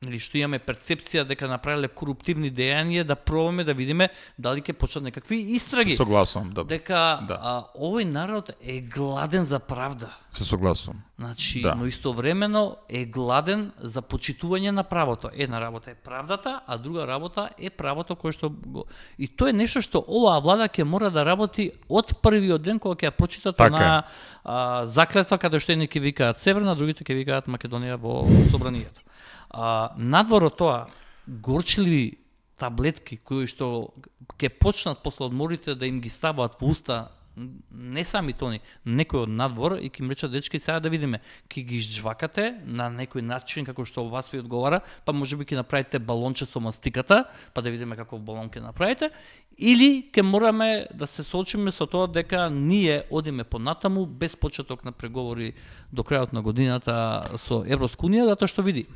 или што имаме перцепција дека направиле коруптивни дејанија, да пробаме да видиме дали ќе почнат некакви истраги. Се согласувам, да. Дека Да. а, овој народ е гладен за правда. Се согласувам. Значи, Да. но истовремено е гладен за почитување на правото. Една работа е правдата, а друга работа е правото кое што го... И тоа е нешто што оваа влада ќе мора да работи од првиот ден кога ќе ја прочитат Така на а, заклетва каде што едни ќе викаат Северна, другите ќе викаат Македонија во собранието. А, надвор од тоа, горчливи таблетки кои што ќе почнат после одморите да им ги ставаат во уста не сами тони, некој од надвор и ќе им речат дечки сега да видиме, ќе ги жвакате на некој начин како што вас ви одговара, па можеби ќе направите балонче со мастиката, па да видиме каков балон ќе направите, или ќе мораме да се соочиме со тоа дека ние одиме понатаму без почеток на преговори до крајот на годината со Европска унија, затоа што види,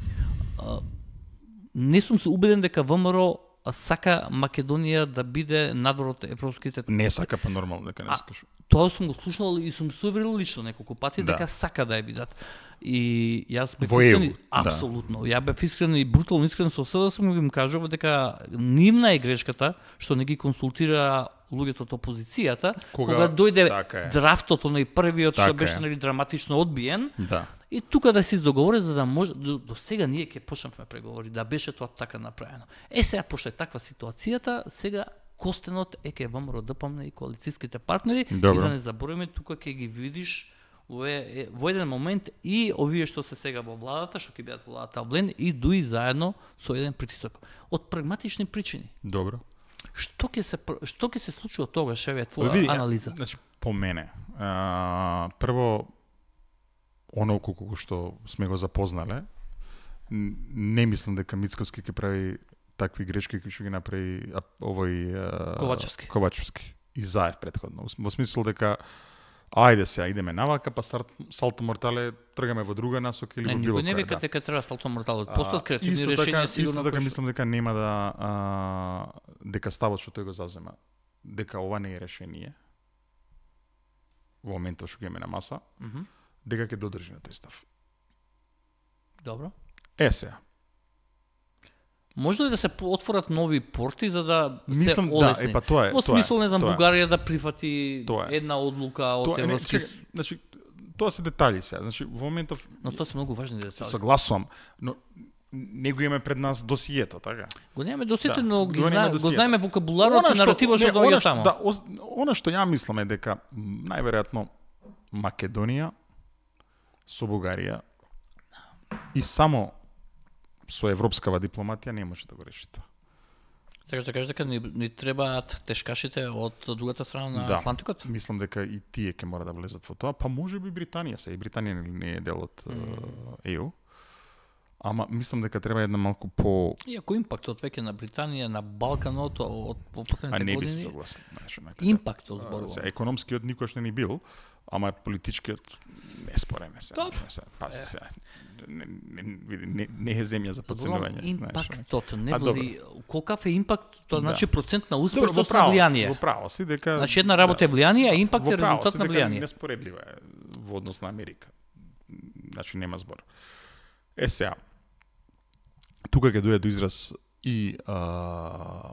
не сум се убеден дека ВМРО сака Македонија да биде надвор од европските. Не сака, па нормално дека не А, сакаш. Тоа сум го слушнал и сум се уверил лично неколку пати Да. дека сака да ја бидат. И јас бев Во искрен, ЕУ, да. апсолутно. Ја бев искрен и брутално искрен со себе сум им кажував дека нивна е грешката што не ги консултира луѓето од опозицијата Кога- кога, дојде така е. драфтот оној првиот што Така беше е. нели драматично одбиен. Да. И тука да се издоговори за да може до, до сега ние ќе почнавме преговори да беше тоа така направено. Е сега пошто е таква ситуацијата, сега костенот е ке ВМРО ДПМН и коалицијските партнери Добро. и да не забориме тука ќе ги видиш во, е, во еден момент и овие што се сега во владата, што ќе бидат во владата Влен и дуи заедно со еден притисок. Од прагматични причини. Добро. Што ќе се пр- што ќе се случува тогаш, еве твоја Види, анализа? Значи, по мене, а, прво, оно колку што сме го запознале, н- не мислам дека Мицковски ќе прави такви грешки кои што ги направи а, овој а, Ковачевски. Ковачевски и Заев претходно. Во смисол дека ајде сега идеме навака, па старт, салто мортале тргаме во друга насока или Не, во било никој не која, вика да. дека треба салто морталот. А, Постојат креативни исто решенија така, сигурно. Исто така кои што- мислам дека нема да а, дека ставот што тој го завзема, дека ова не е решение во моментот што го имаме на маса, Мгм. дека ќе додржи на тој став. Добро. Е сега. Може ли да се по- отворат нови порти за да Мислам, се да, олесни? е па тоа е. Во тоа е, смисол, не знам, тоа е. Бугарија да прифати Тоа е. една одлука од Тоа е, не, Европски... чекай, значи, тоа се детали сега. Значи, во моментов Но тоа се многу важни се детали. согласувам, но не го имаме пред нас досието, така? Го немаме досите, Да, но го ги немаме зна... го досието. знаеме вокабуларот Она и наративот што не, доаѓа она таму. Да, ос- она што ја мислам е дека м, најверојатно Македонија со Бугарија и само со европскава дипломатија не може да го реши тоа. Сакаш да кажеш дека ни, ни требаат тешкашите од другата страна на Да. Атлантикот? Мислам дека и тие ќе мора да влезат во тоа, па може би Британија се, и Британија не- не е дел од е, ЕУ. Ама мислам дека треба една малку по Иако импактот веќе на Британија, на Балканот од во а последните не би се години, согласил, знаеш, онака се. импактот А, зборувам. се, економскиот никош не ни бил, ама политичкиот не спореме се. Добро. Не се, паси се. Не, не, види, не, не е земја за Зборувам подценување. знаеш, импактот, не А, вели колкав е импакт, тоа Да. значи процент на Добро, во успешност на право си, влијание. Во право си дека Значи една работа е влијание, а импакт Во е право резултат си на дека влијание. неспоредливо е во однос на Америка. Значи нема збор. Е сега, тука ќе дојде до израз и а,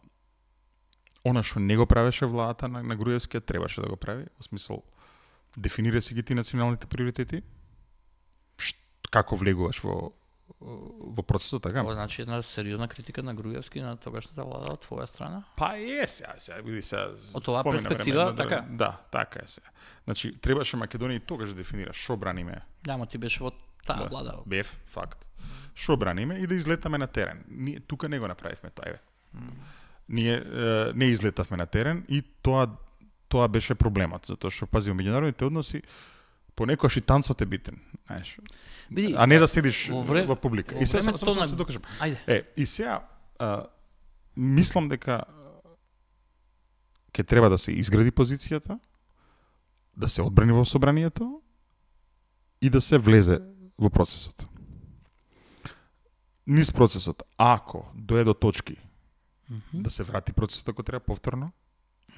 она што не го правеше владата на, на Груевскиот требаше да го прави, во смисол дефинира си ги ти националните приоритети, Шт, како влегуваш во во процесот, така? Ова значи една сериозна критика на Груевски на тогашната влада од твоја страна? Па е, сега, сега, види сега... Од оваа перспектива, време, така? Да, така е сега. Значи, требаше Македонија и тогаш да дефинира шо браниме. Да, ма ти беше во таа Да, влада. Бев, факт. Шо браниме и да излетаме на терен. Ние тука не го направивме тоа, еве. Mm. Ние е, не излетавме на терен и тоа тоа беше проблемот, затоа што пази во меѓународните односи понекогаш и танцот е битен, знаеш. Види, а не да седиш во вре... во публика. Во И сега само времето само на... се докажам. Ајде. Е, и сега а, мислам дека ќе треба да се изгради позицијата, да се одбрани во собранието и да се влезе во процесот. Низ процесот, ако дое до точки Mm -hmm. да се врати процесот ако треба повторно,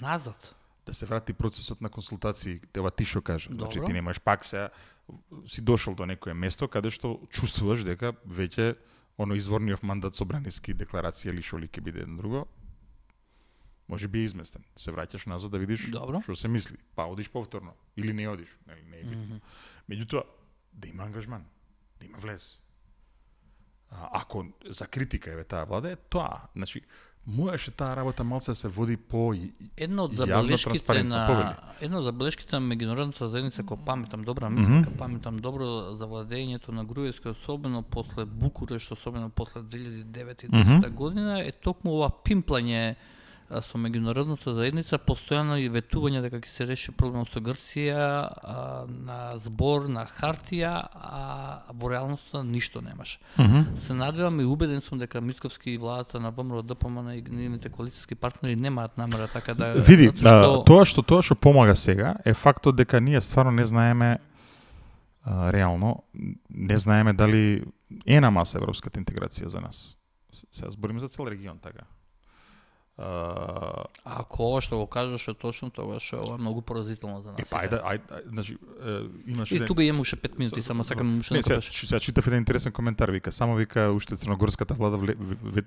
назад. Да се врати процесот на консултации, ова ти што кажа. Добро. Значи ти немаш пак сега си дошол до некое место каде што чувствуваш дека веќе оно изворниот мандат собраниски декларација или шо ли ќе биде едно друго, може би е изместен. Се враќаш назад да видиш Добро. што се мисли. Па одиш повторно или не одиш, нели не е битно. Mm -hmm. Меѓутоа да има ангажман, да има влез. А, ако за критика еве таа влада е тоа, значи можеше таа работа малце да се води по Една од јавно, забелешките транспарентно, на повели. една од забелешките на меѓународната заедница, кога паметам добра мисла, mm -hmm. паметам добро за владењето на Груевски, особено после Букурешт, особено после две илјади и девета и десета mm -hmm. година, е токму ова пимплање со меѓународната заедница, постојано и ветување дека ќе се реши проблемот со Грција а, на збор, на хартија, а во реалноста ништо немаш. Mm -hmm. Се надевам и убеден сум дека Мицковски и владата на ВМРО Д П М Н и нивните коалициски партнери немаат намера така да... Види, што... а, тоа што тоа што помага сега е фактот дека ние стварно не знаеме а, реално, не знаеме дали е на маса европската интеграција за нас. Сега збориме за цел регион, така. Uh, Ако ова што го кажеш е точно, тогаш ова е многу поразително за нас. Е, па, ајде, ајде, значи, имаш и еден... тука имаше пет минути, само сакам уште да кажеш. Сега читав еден интересен коментар, вика, само вика уште црногорската влада вле, ве,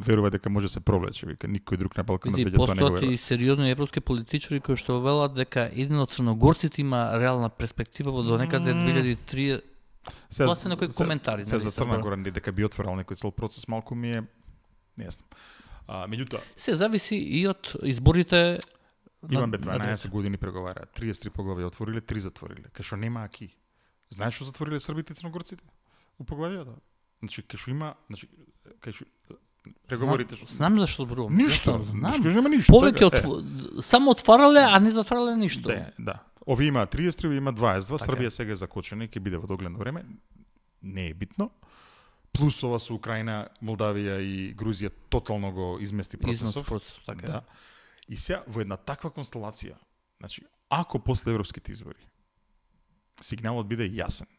верува дека може да се провлече, вика, никој друг на Балканот веќе тоа не го верува. Постојат и сериозни европски политичари кои што велат дека еден од црногорците има реална перспектива во до некаде две илјади и тридесета. Тоа се некои коментари. Се за Црна Гора дека би отворил некој цел процес, малку ми е нејасно. А, меѓутоа, се зависи и од изборите. Имаме дванаесет години преговара, триесет и три поглавја отвориле, три затвориле. Кај што нема аки. Знаеш што затвориле србите и црногорците? У поглавјата. Значи, кај што има, значи, кај што преговорите што... Знам зашто зборувам. Ништо, знам. Нема ништо. Повеќе отв... само отварале, а не затварале ништо. Да, да. Ови има триесет и три, има дваесет и два, така. Србија сега е закочена и ќе биде во догледно време. Не е битно. Плюс ова со Украина, Молдавија и Грузија тотално го измести процесот. Процес, така. Да. И сега во една таква констелација, значи, ако после европските избори сигналот биде јасен,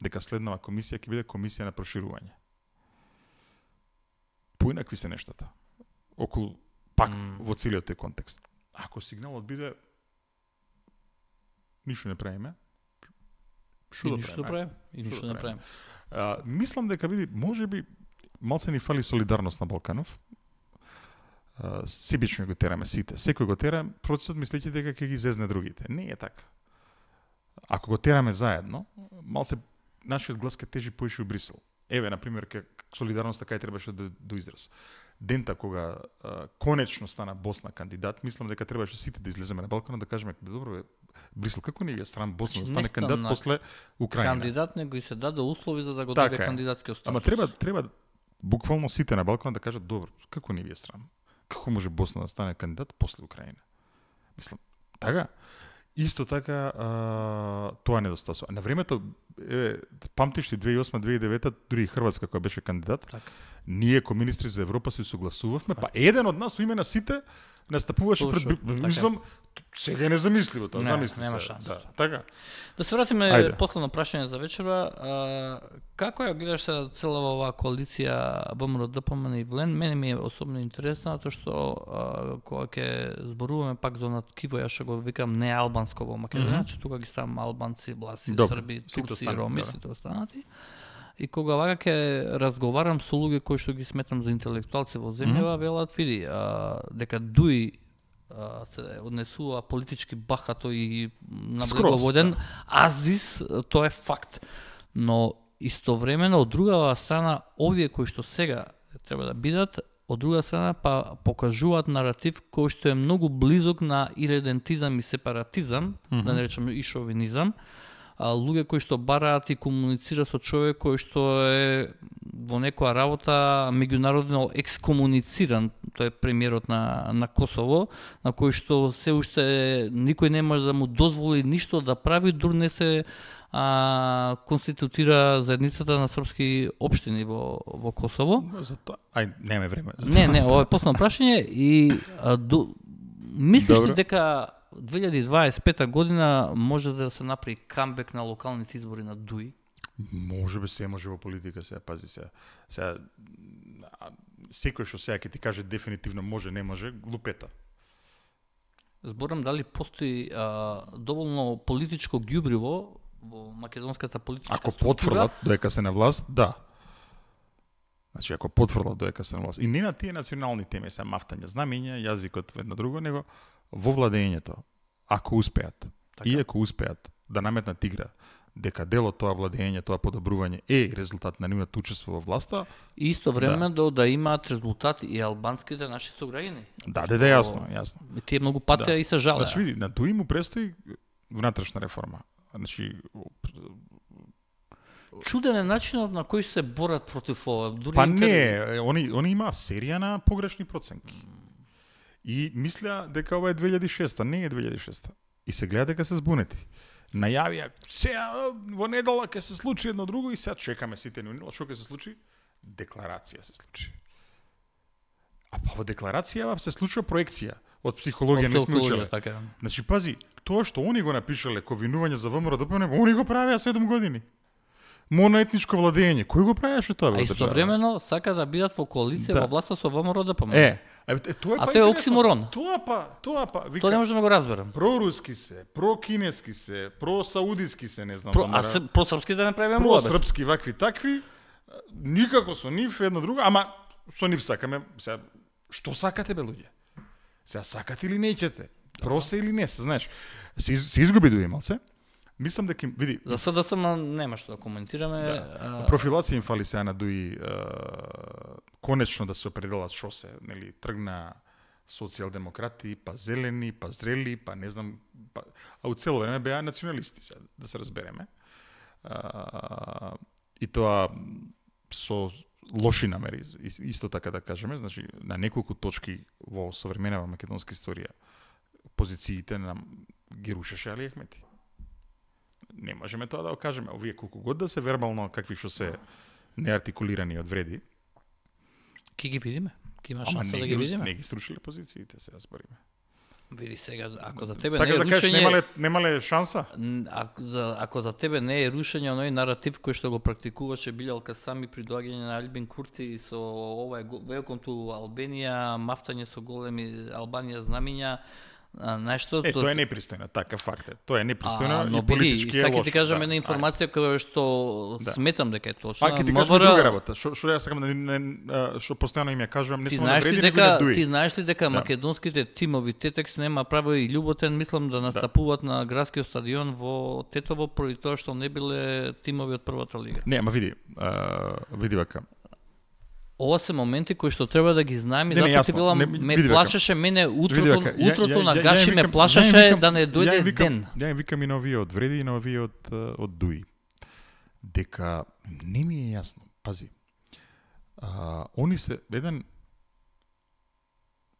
дека следнава комисија ќе биде комисија на проширување. Поинакви се нештата. Околу пак mm. во целиот тој контекст. Ако сигналот биде ништо не правиме, што да ништо правиме? И ништо не правиме. Uh, мислам дека види, може би малце ни фали солидарност на Балканов. Uh, себично го тераме сите. Секој го тера, процесот мислејќи дека ќе ги зезне другите. Не е така. Ако го тераме заедно, малце нашиот глас ќе тежи поише у Брисел. Еве, на пример, ке солидарноста кај требаше да до израз. Дента кога uh, конечно стана Босна кандидат, мислам дека требаше сите да излеземе на Балканот да кажеме добро, Брисел, како не е срам Босна да стане кандидат после Украина? Кандидат него и се даде услови за да го така доби кандидатскиот статус. Ама треба треба буквално сите на Балканот да кажат добро, како не ви е срам? Како може Босна да стане кандидат после Украина? Мислам, така. Исто така а, тоа недостасува. На времето е, памтиш ли две илјади и осма две илјади и девета дури и Хрватска која беше кандидат. Така. Ние ко министри за Европа се согласувавме, па еден од нас во име на сите настапуваше Слушам, пред мислам сега е незамисливо тоа, не, замисли нема се. шанс. Да, така. Да се вратиме Ајде. последно прашање за вечера. А, како ја гледаш се целава оваа коалиција ВМРО Д П М Н и Влен? Мене ми е особено интересно затоа што а, кога ќе зборуваме пак за онат киво, ја што го викам не албанско во Македонија, mm -hmm. тука ги ставам албанци, власи, Добре, срби, сите турци, останати, роми, да. сите останати. И кога вака ќе разговарам со луѓе кои што ги сметам за интелектуалци во земјава, mm -hmm. велат, види, а, дека дуи а, се однесува политички бахато и наблеговоден, аздис, тоа е факт. Но истовремено, од друга страна, овие кои што сега треба да бидат, од друга страна па покажуваат наратив кој што е многу близок на иредентизам и сепаратизам, mm-hmm. да не речеме и шовинизам, а, луѓе кои што бараат и комуницира со човек кој што е во некоја работа меѓународно екскомунициран, тој е премиерот на, на Косово, на кој што се уште никој не може да му дозволи ништо да прави, дур не се а, конститутира заедницата на српски општини во, во Косово. За тоа, ај, неме време. Не, не, ова е последно прашање и а, до, мислиш ли дека две илјади дваесет и пета година може да се направи камбек на локалните избори на ДУИ? Може би се може во политика, сега пази се. Сега секој што сега ќе ти каже дефинитивно може, не може, глупета. Зборам дали постои а, доволно политичко ѓубриво во македонската политичка ако структура. потврлат доека се на власт, да. Значи ако потврлат доека се на власт. И не на тие национални теми, се мафтање знамења, јазикот едно друго, него во владењето, ако успеат, така. И ако успеат да наметнат игра, дека дел од тоа владење, тоа подобрување е резултат на нивното учество во власта. И исто време да, да имаат резултат и албанските наши сограѓани. Да, да, да, јасно, јасно. Тие многу патеа да. И се жалеа. Значи види, на ДУИ му престои внатрешна реформа. Значи чуден е начинот на кој се борат против ова. Дури па интер... не, они они имаа серија на погрешни проценки. И мисля дека ова е две илјади и шеста, не е две илјади и шеста. И се гледа дека се збунети. Најавија, сега во недела ќе се случи едно друго и сега чекаме сите ни недела, што ќе се случи? Декларација се случи. А па во декларација се случува проекција. Од психологија не сме учеле. Така. Значи, пази, тоа што они го напишале ко винување за ВМРО-ДПМН, они го правеа седум години. Моноетничко владење. Кој го правеше тоа? А истовремено сака да бидат во коалиција да. Во власта со ВМРО-ДПМН. Е, е, тоа е а па тоа е оксиморон. Тоа па, тоа па, вика. Тоа не можам да го разберам. Проруски се, прокинески се, просаудиски се, не знам. Про, а се, просрпски да не правиме муабет. Просрпски вакви такви, никако со нив едно друго, ама со нив сакаме, сега што сакате бе луѓе? Сега сакате или неќете? Просе или не, се знаеш. Се, се изгуби ДУИ малце. Мислам дека види. За СДС нема што да коментираме. Да. А... Профилација им фали сега на ДУИ конечно да се определат што се, нели, тргна социјалдемократи, па зелени, па зрели, па не знам, па... а у цело време беа националисти, сега, да се разбереме. А, и тоа со лоши намери, исто така да кажеме, значи на неколку точки во современава македонска историја позициите нам ги рушеше Али Ахмети. Не можеме тоа да го кажеме. Овие колку год да се вербално какви што се неартикулирани од вреди. Ки ги видиме? Ки има шанса да ги видиме? Не ги срушиле позициите, сега збориме. Види сега, ако за тебе Сакаш не е да рушење... кажеш, немале, немале шанса? Ако за, ако за тебе не е рушење оној наратив кој што го практикуваше Билјалка Сами при доаѓање на Альбин Курти со ова е Welcome to Albania, мафтање со големи Албанија знамиња, нешто е, тоа е непристојно, така факт е. Тоа е непристојно и политички е лошо. Сака ти кажам една да, информација која што да. Сметам дека е точна. А ќе ти кажам друга работа. Што што ја сакам да не што постојано им ја кажувам, не само на вреди дека ДУИ. Ти знаеш ли дека да. Македонските тимови Тетекс нема право и Љуботен, мислам да настапуваат да. На градскиот стадион во Тетово поради тоа што не биле тимови од првата лига. Не, ама види, а, види вака. Ова се моменти кои што треба да ги знаеме, затоа ти била, не, ме плашеше мене утрото, вака, утрото ја, ја, на Гаши ја, ја, ме плашеше ја викам, да не дојде ја викам, ден. Ја им викам и на овие од вреди и на овие од, од ДУИ. Дека не ми е јасно, пази, а, они се еден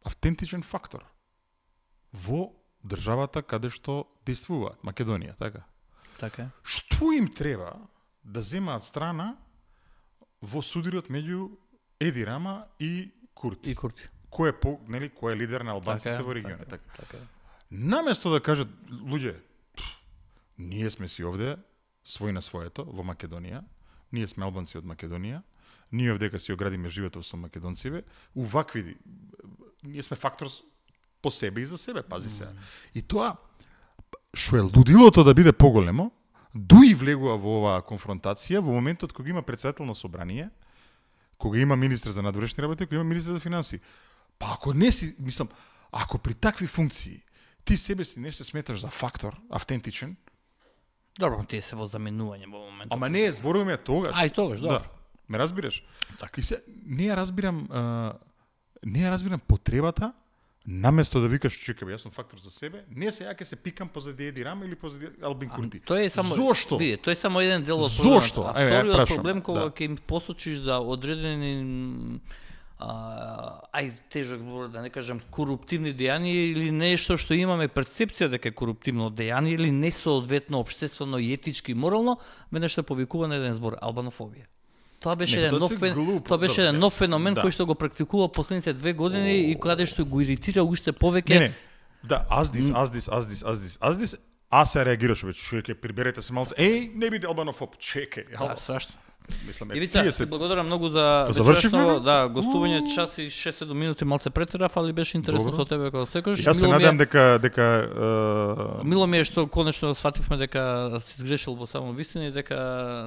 автентичен фактор во државата каде што действуваат, Македонија, така? Така. Што им треба да земаат страна во судирот меѓу Еди Рама и Курти. И Курти. Кој е по, нели, кој е лидер на албанците така, во регионот, така. така. Наместо да кажат луѓе, ние сме си овде свој на своето во Македонија, ние сме албанци од Македонија, ние овдека си оградиме животот со македонциве, увакви ние сме фактор по себе и за себе, пази се. Mm. И тоа што е лудилото да биде поголемо, ДУИ влегува во оваа конфронтација во моментот кога има претседател на собрание, кога има министр за надворешни работи, кога има министр за финансии. Па ако не си, мислам, ако при такви функции ти себе си не се сметаш за фактор автентичен, Добро, тие се во заменување во моментот. ама не, зборуваме тогаш. Ај тогаш, добро. Да. Ме разбираш? Така. И се, не ја разбирам, а, не ја разбирам потребата, наместо да викаш, чекай, бе, јас сум фактор за себе, не се ја ќе се пикам позади Еди Рама или позади Албин Курти. Тој е само Зошто? Види, тој е само еден дел од Зошто? проблемот. А Еве, ја вториот прашам, проблем кога да. ќе им посочиш за одредени а, ај тежок збор да не кажам коруптивни дејанија или нешто што имаме перцепција дека е коруптивно дејание или несоодветно општествено и етички и морално, веднаш се повикува на еден збор албанофобија. Тоа беше Не, еден тоа нов се фен, глупо, тоа беше добро, еден нов јас- феномен да. кој што го практикува последните две години и каде што го иритира уште повеќе. Не, не. Да, аздис, аздис, аздис, аздис, аздис, а се реагираш веќе, чекај, приберете се малце. Еј, не биде албанофоб, чекај. Да, страшно. Мислам, Ивица, тие се благодарам многу за завршивме, вечерашно, бе? да, гостување час и шест седум минути малце претерав, али беше интересно Добро. со тебе како секојаш. Јас се Мило ми е- надевам дека дека е, Мило ми е што конечно свативме дека си изгрешил во само вистина и дека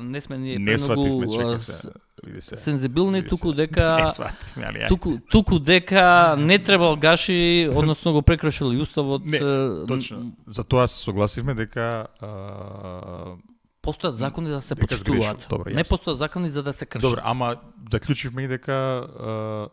не сме ние не свативме, премногу чекај а, се. Види се. сензибилни, Види туку се. дека Не свативме, али ја. туку туку дека не требал гаши, односно го прекршил и уставот. Не, е, точно. За тоа се согласивме дека а, Постојат закони за да се дека почитуваат. сгрешил. Добро, Не јасно. постојат закони за да се кршат. добро, ама заклучивме и дека а,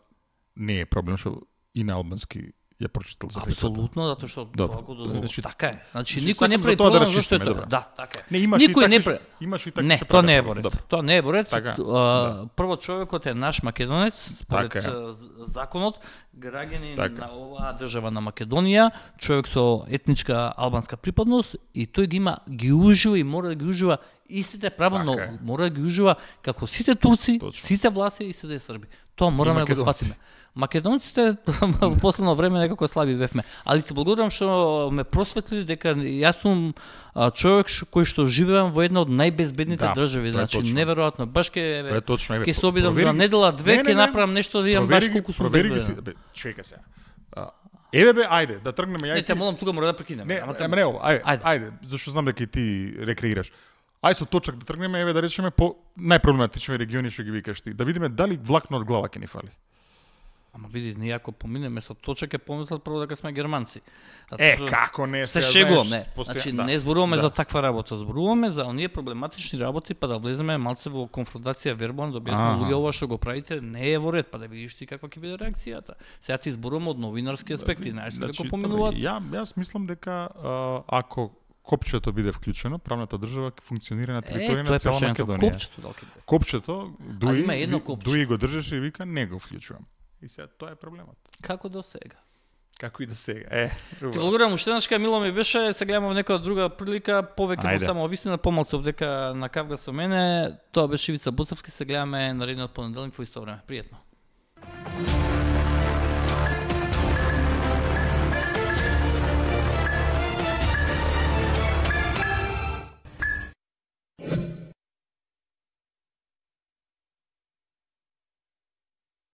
не е проблем што и на албански ја прочитал за први пат. Апсолутно, затоа што Добро. тоа го дозволува. Значи- Така е. Значи значи, никој не сакам прави за тоа да проблем зашто е расчистиме, тоа. добро. Да, така е. Не, имаш Никој и не такви, пре- имаш и такви Не, што тоа не е прават во ред. добро. Тоа не е во ред. Така, Т- а, Прво човекот е наш македонец, според Така е. а, з- законот, граѓанин Така. на оваа држава на Македонија, човек со етничка албанска припадност и тој ги има ги ужива и мора да ги ужива истите права, но Така е. мора да ги ужива како сите турци, Точно. сите власти и сите срби. Тоа мораме да го македонци. сватиме. Македонците во последно време некако слаби бевме. Али ти благодарам што ме просветли дека јас сум а, човек ш- кој што живеам во една од најбезбедните Да, држави. тоа е Значи точно. неверојатно. Баш ке Тоа е точно, еве. ќе се обидам провери за ги. недела две, Не, не, ќе не. направам нешто да видам баш Провери ги- колку сум провери ги си- безбеден. бе, чекај сега. А, Еве бе, ајде, да тргнеме ја Не, и те ти. молам тука мора да прекинеме. Не, Ама те- ама не, ајде, Ајде. ајде, зашто знам дека и ти рекреираш. Ај со точак да тргнеме, еве да речеме по најпроблематични региони што ги викаш ти, да видиме дали влакно од глава ќе ни фали. Ама види, ние ако поминеме со точак ќе помислат прво дека сме германци. Затоа Е, што- како не Се сега, шегувам, знаеш, не. постоја- Значи да. не зборуваме Да. за таква работа, зборуваме за оние проблематични работи, па да влеземе малце во конфронтација вербално, да објасниме Аха. луѓе ова што го правите не е во ред, па да видиш ти каква ќе биде реакцијата. Сега ти зборуваме од новинарски аспекти, знаеш Значи, како поминуваат. Ја, јас мислам дека а, ако копчето биде вклучено, правната држава ќе функционира на Е, територија тоа на е цела прашањето, Македонија. копчето дали ќе биде. Копчето, дуи, има едно ви- копче. дуи го држеше и вика не го вклучувам. И сега тоа е проблемот. Како до сега? Како и да сега. Е, Ти благодарам уште еднашка, мило ми беше, се гледаме во некоја друга прилика, повеќе Ајде. во само вистина, помалку дека на кавга со мене. Тоа беше Ивица Буцевски, се гледаме наредниот понеделник во исто време. Пријатно.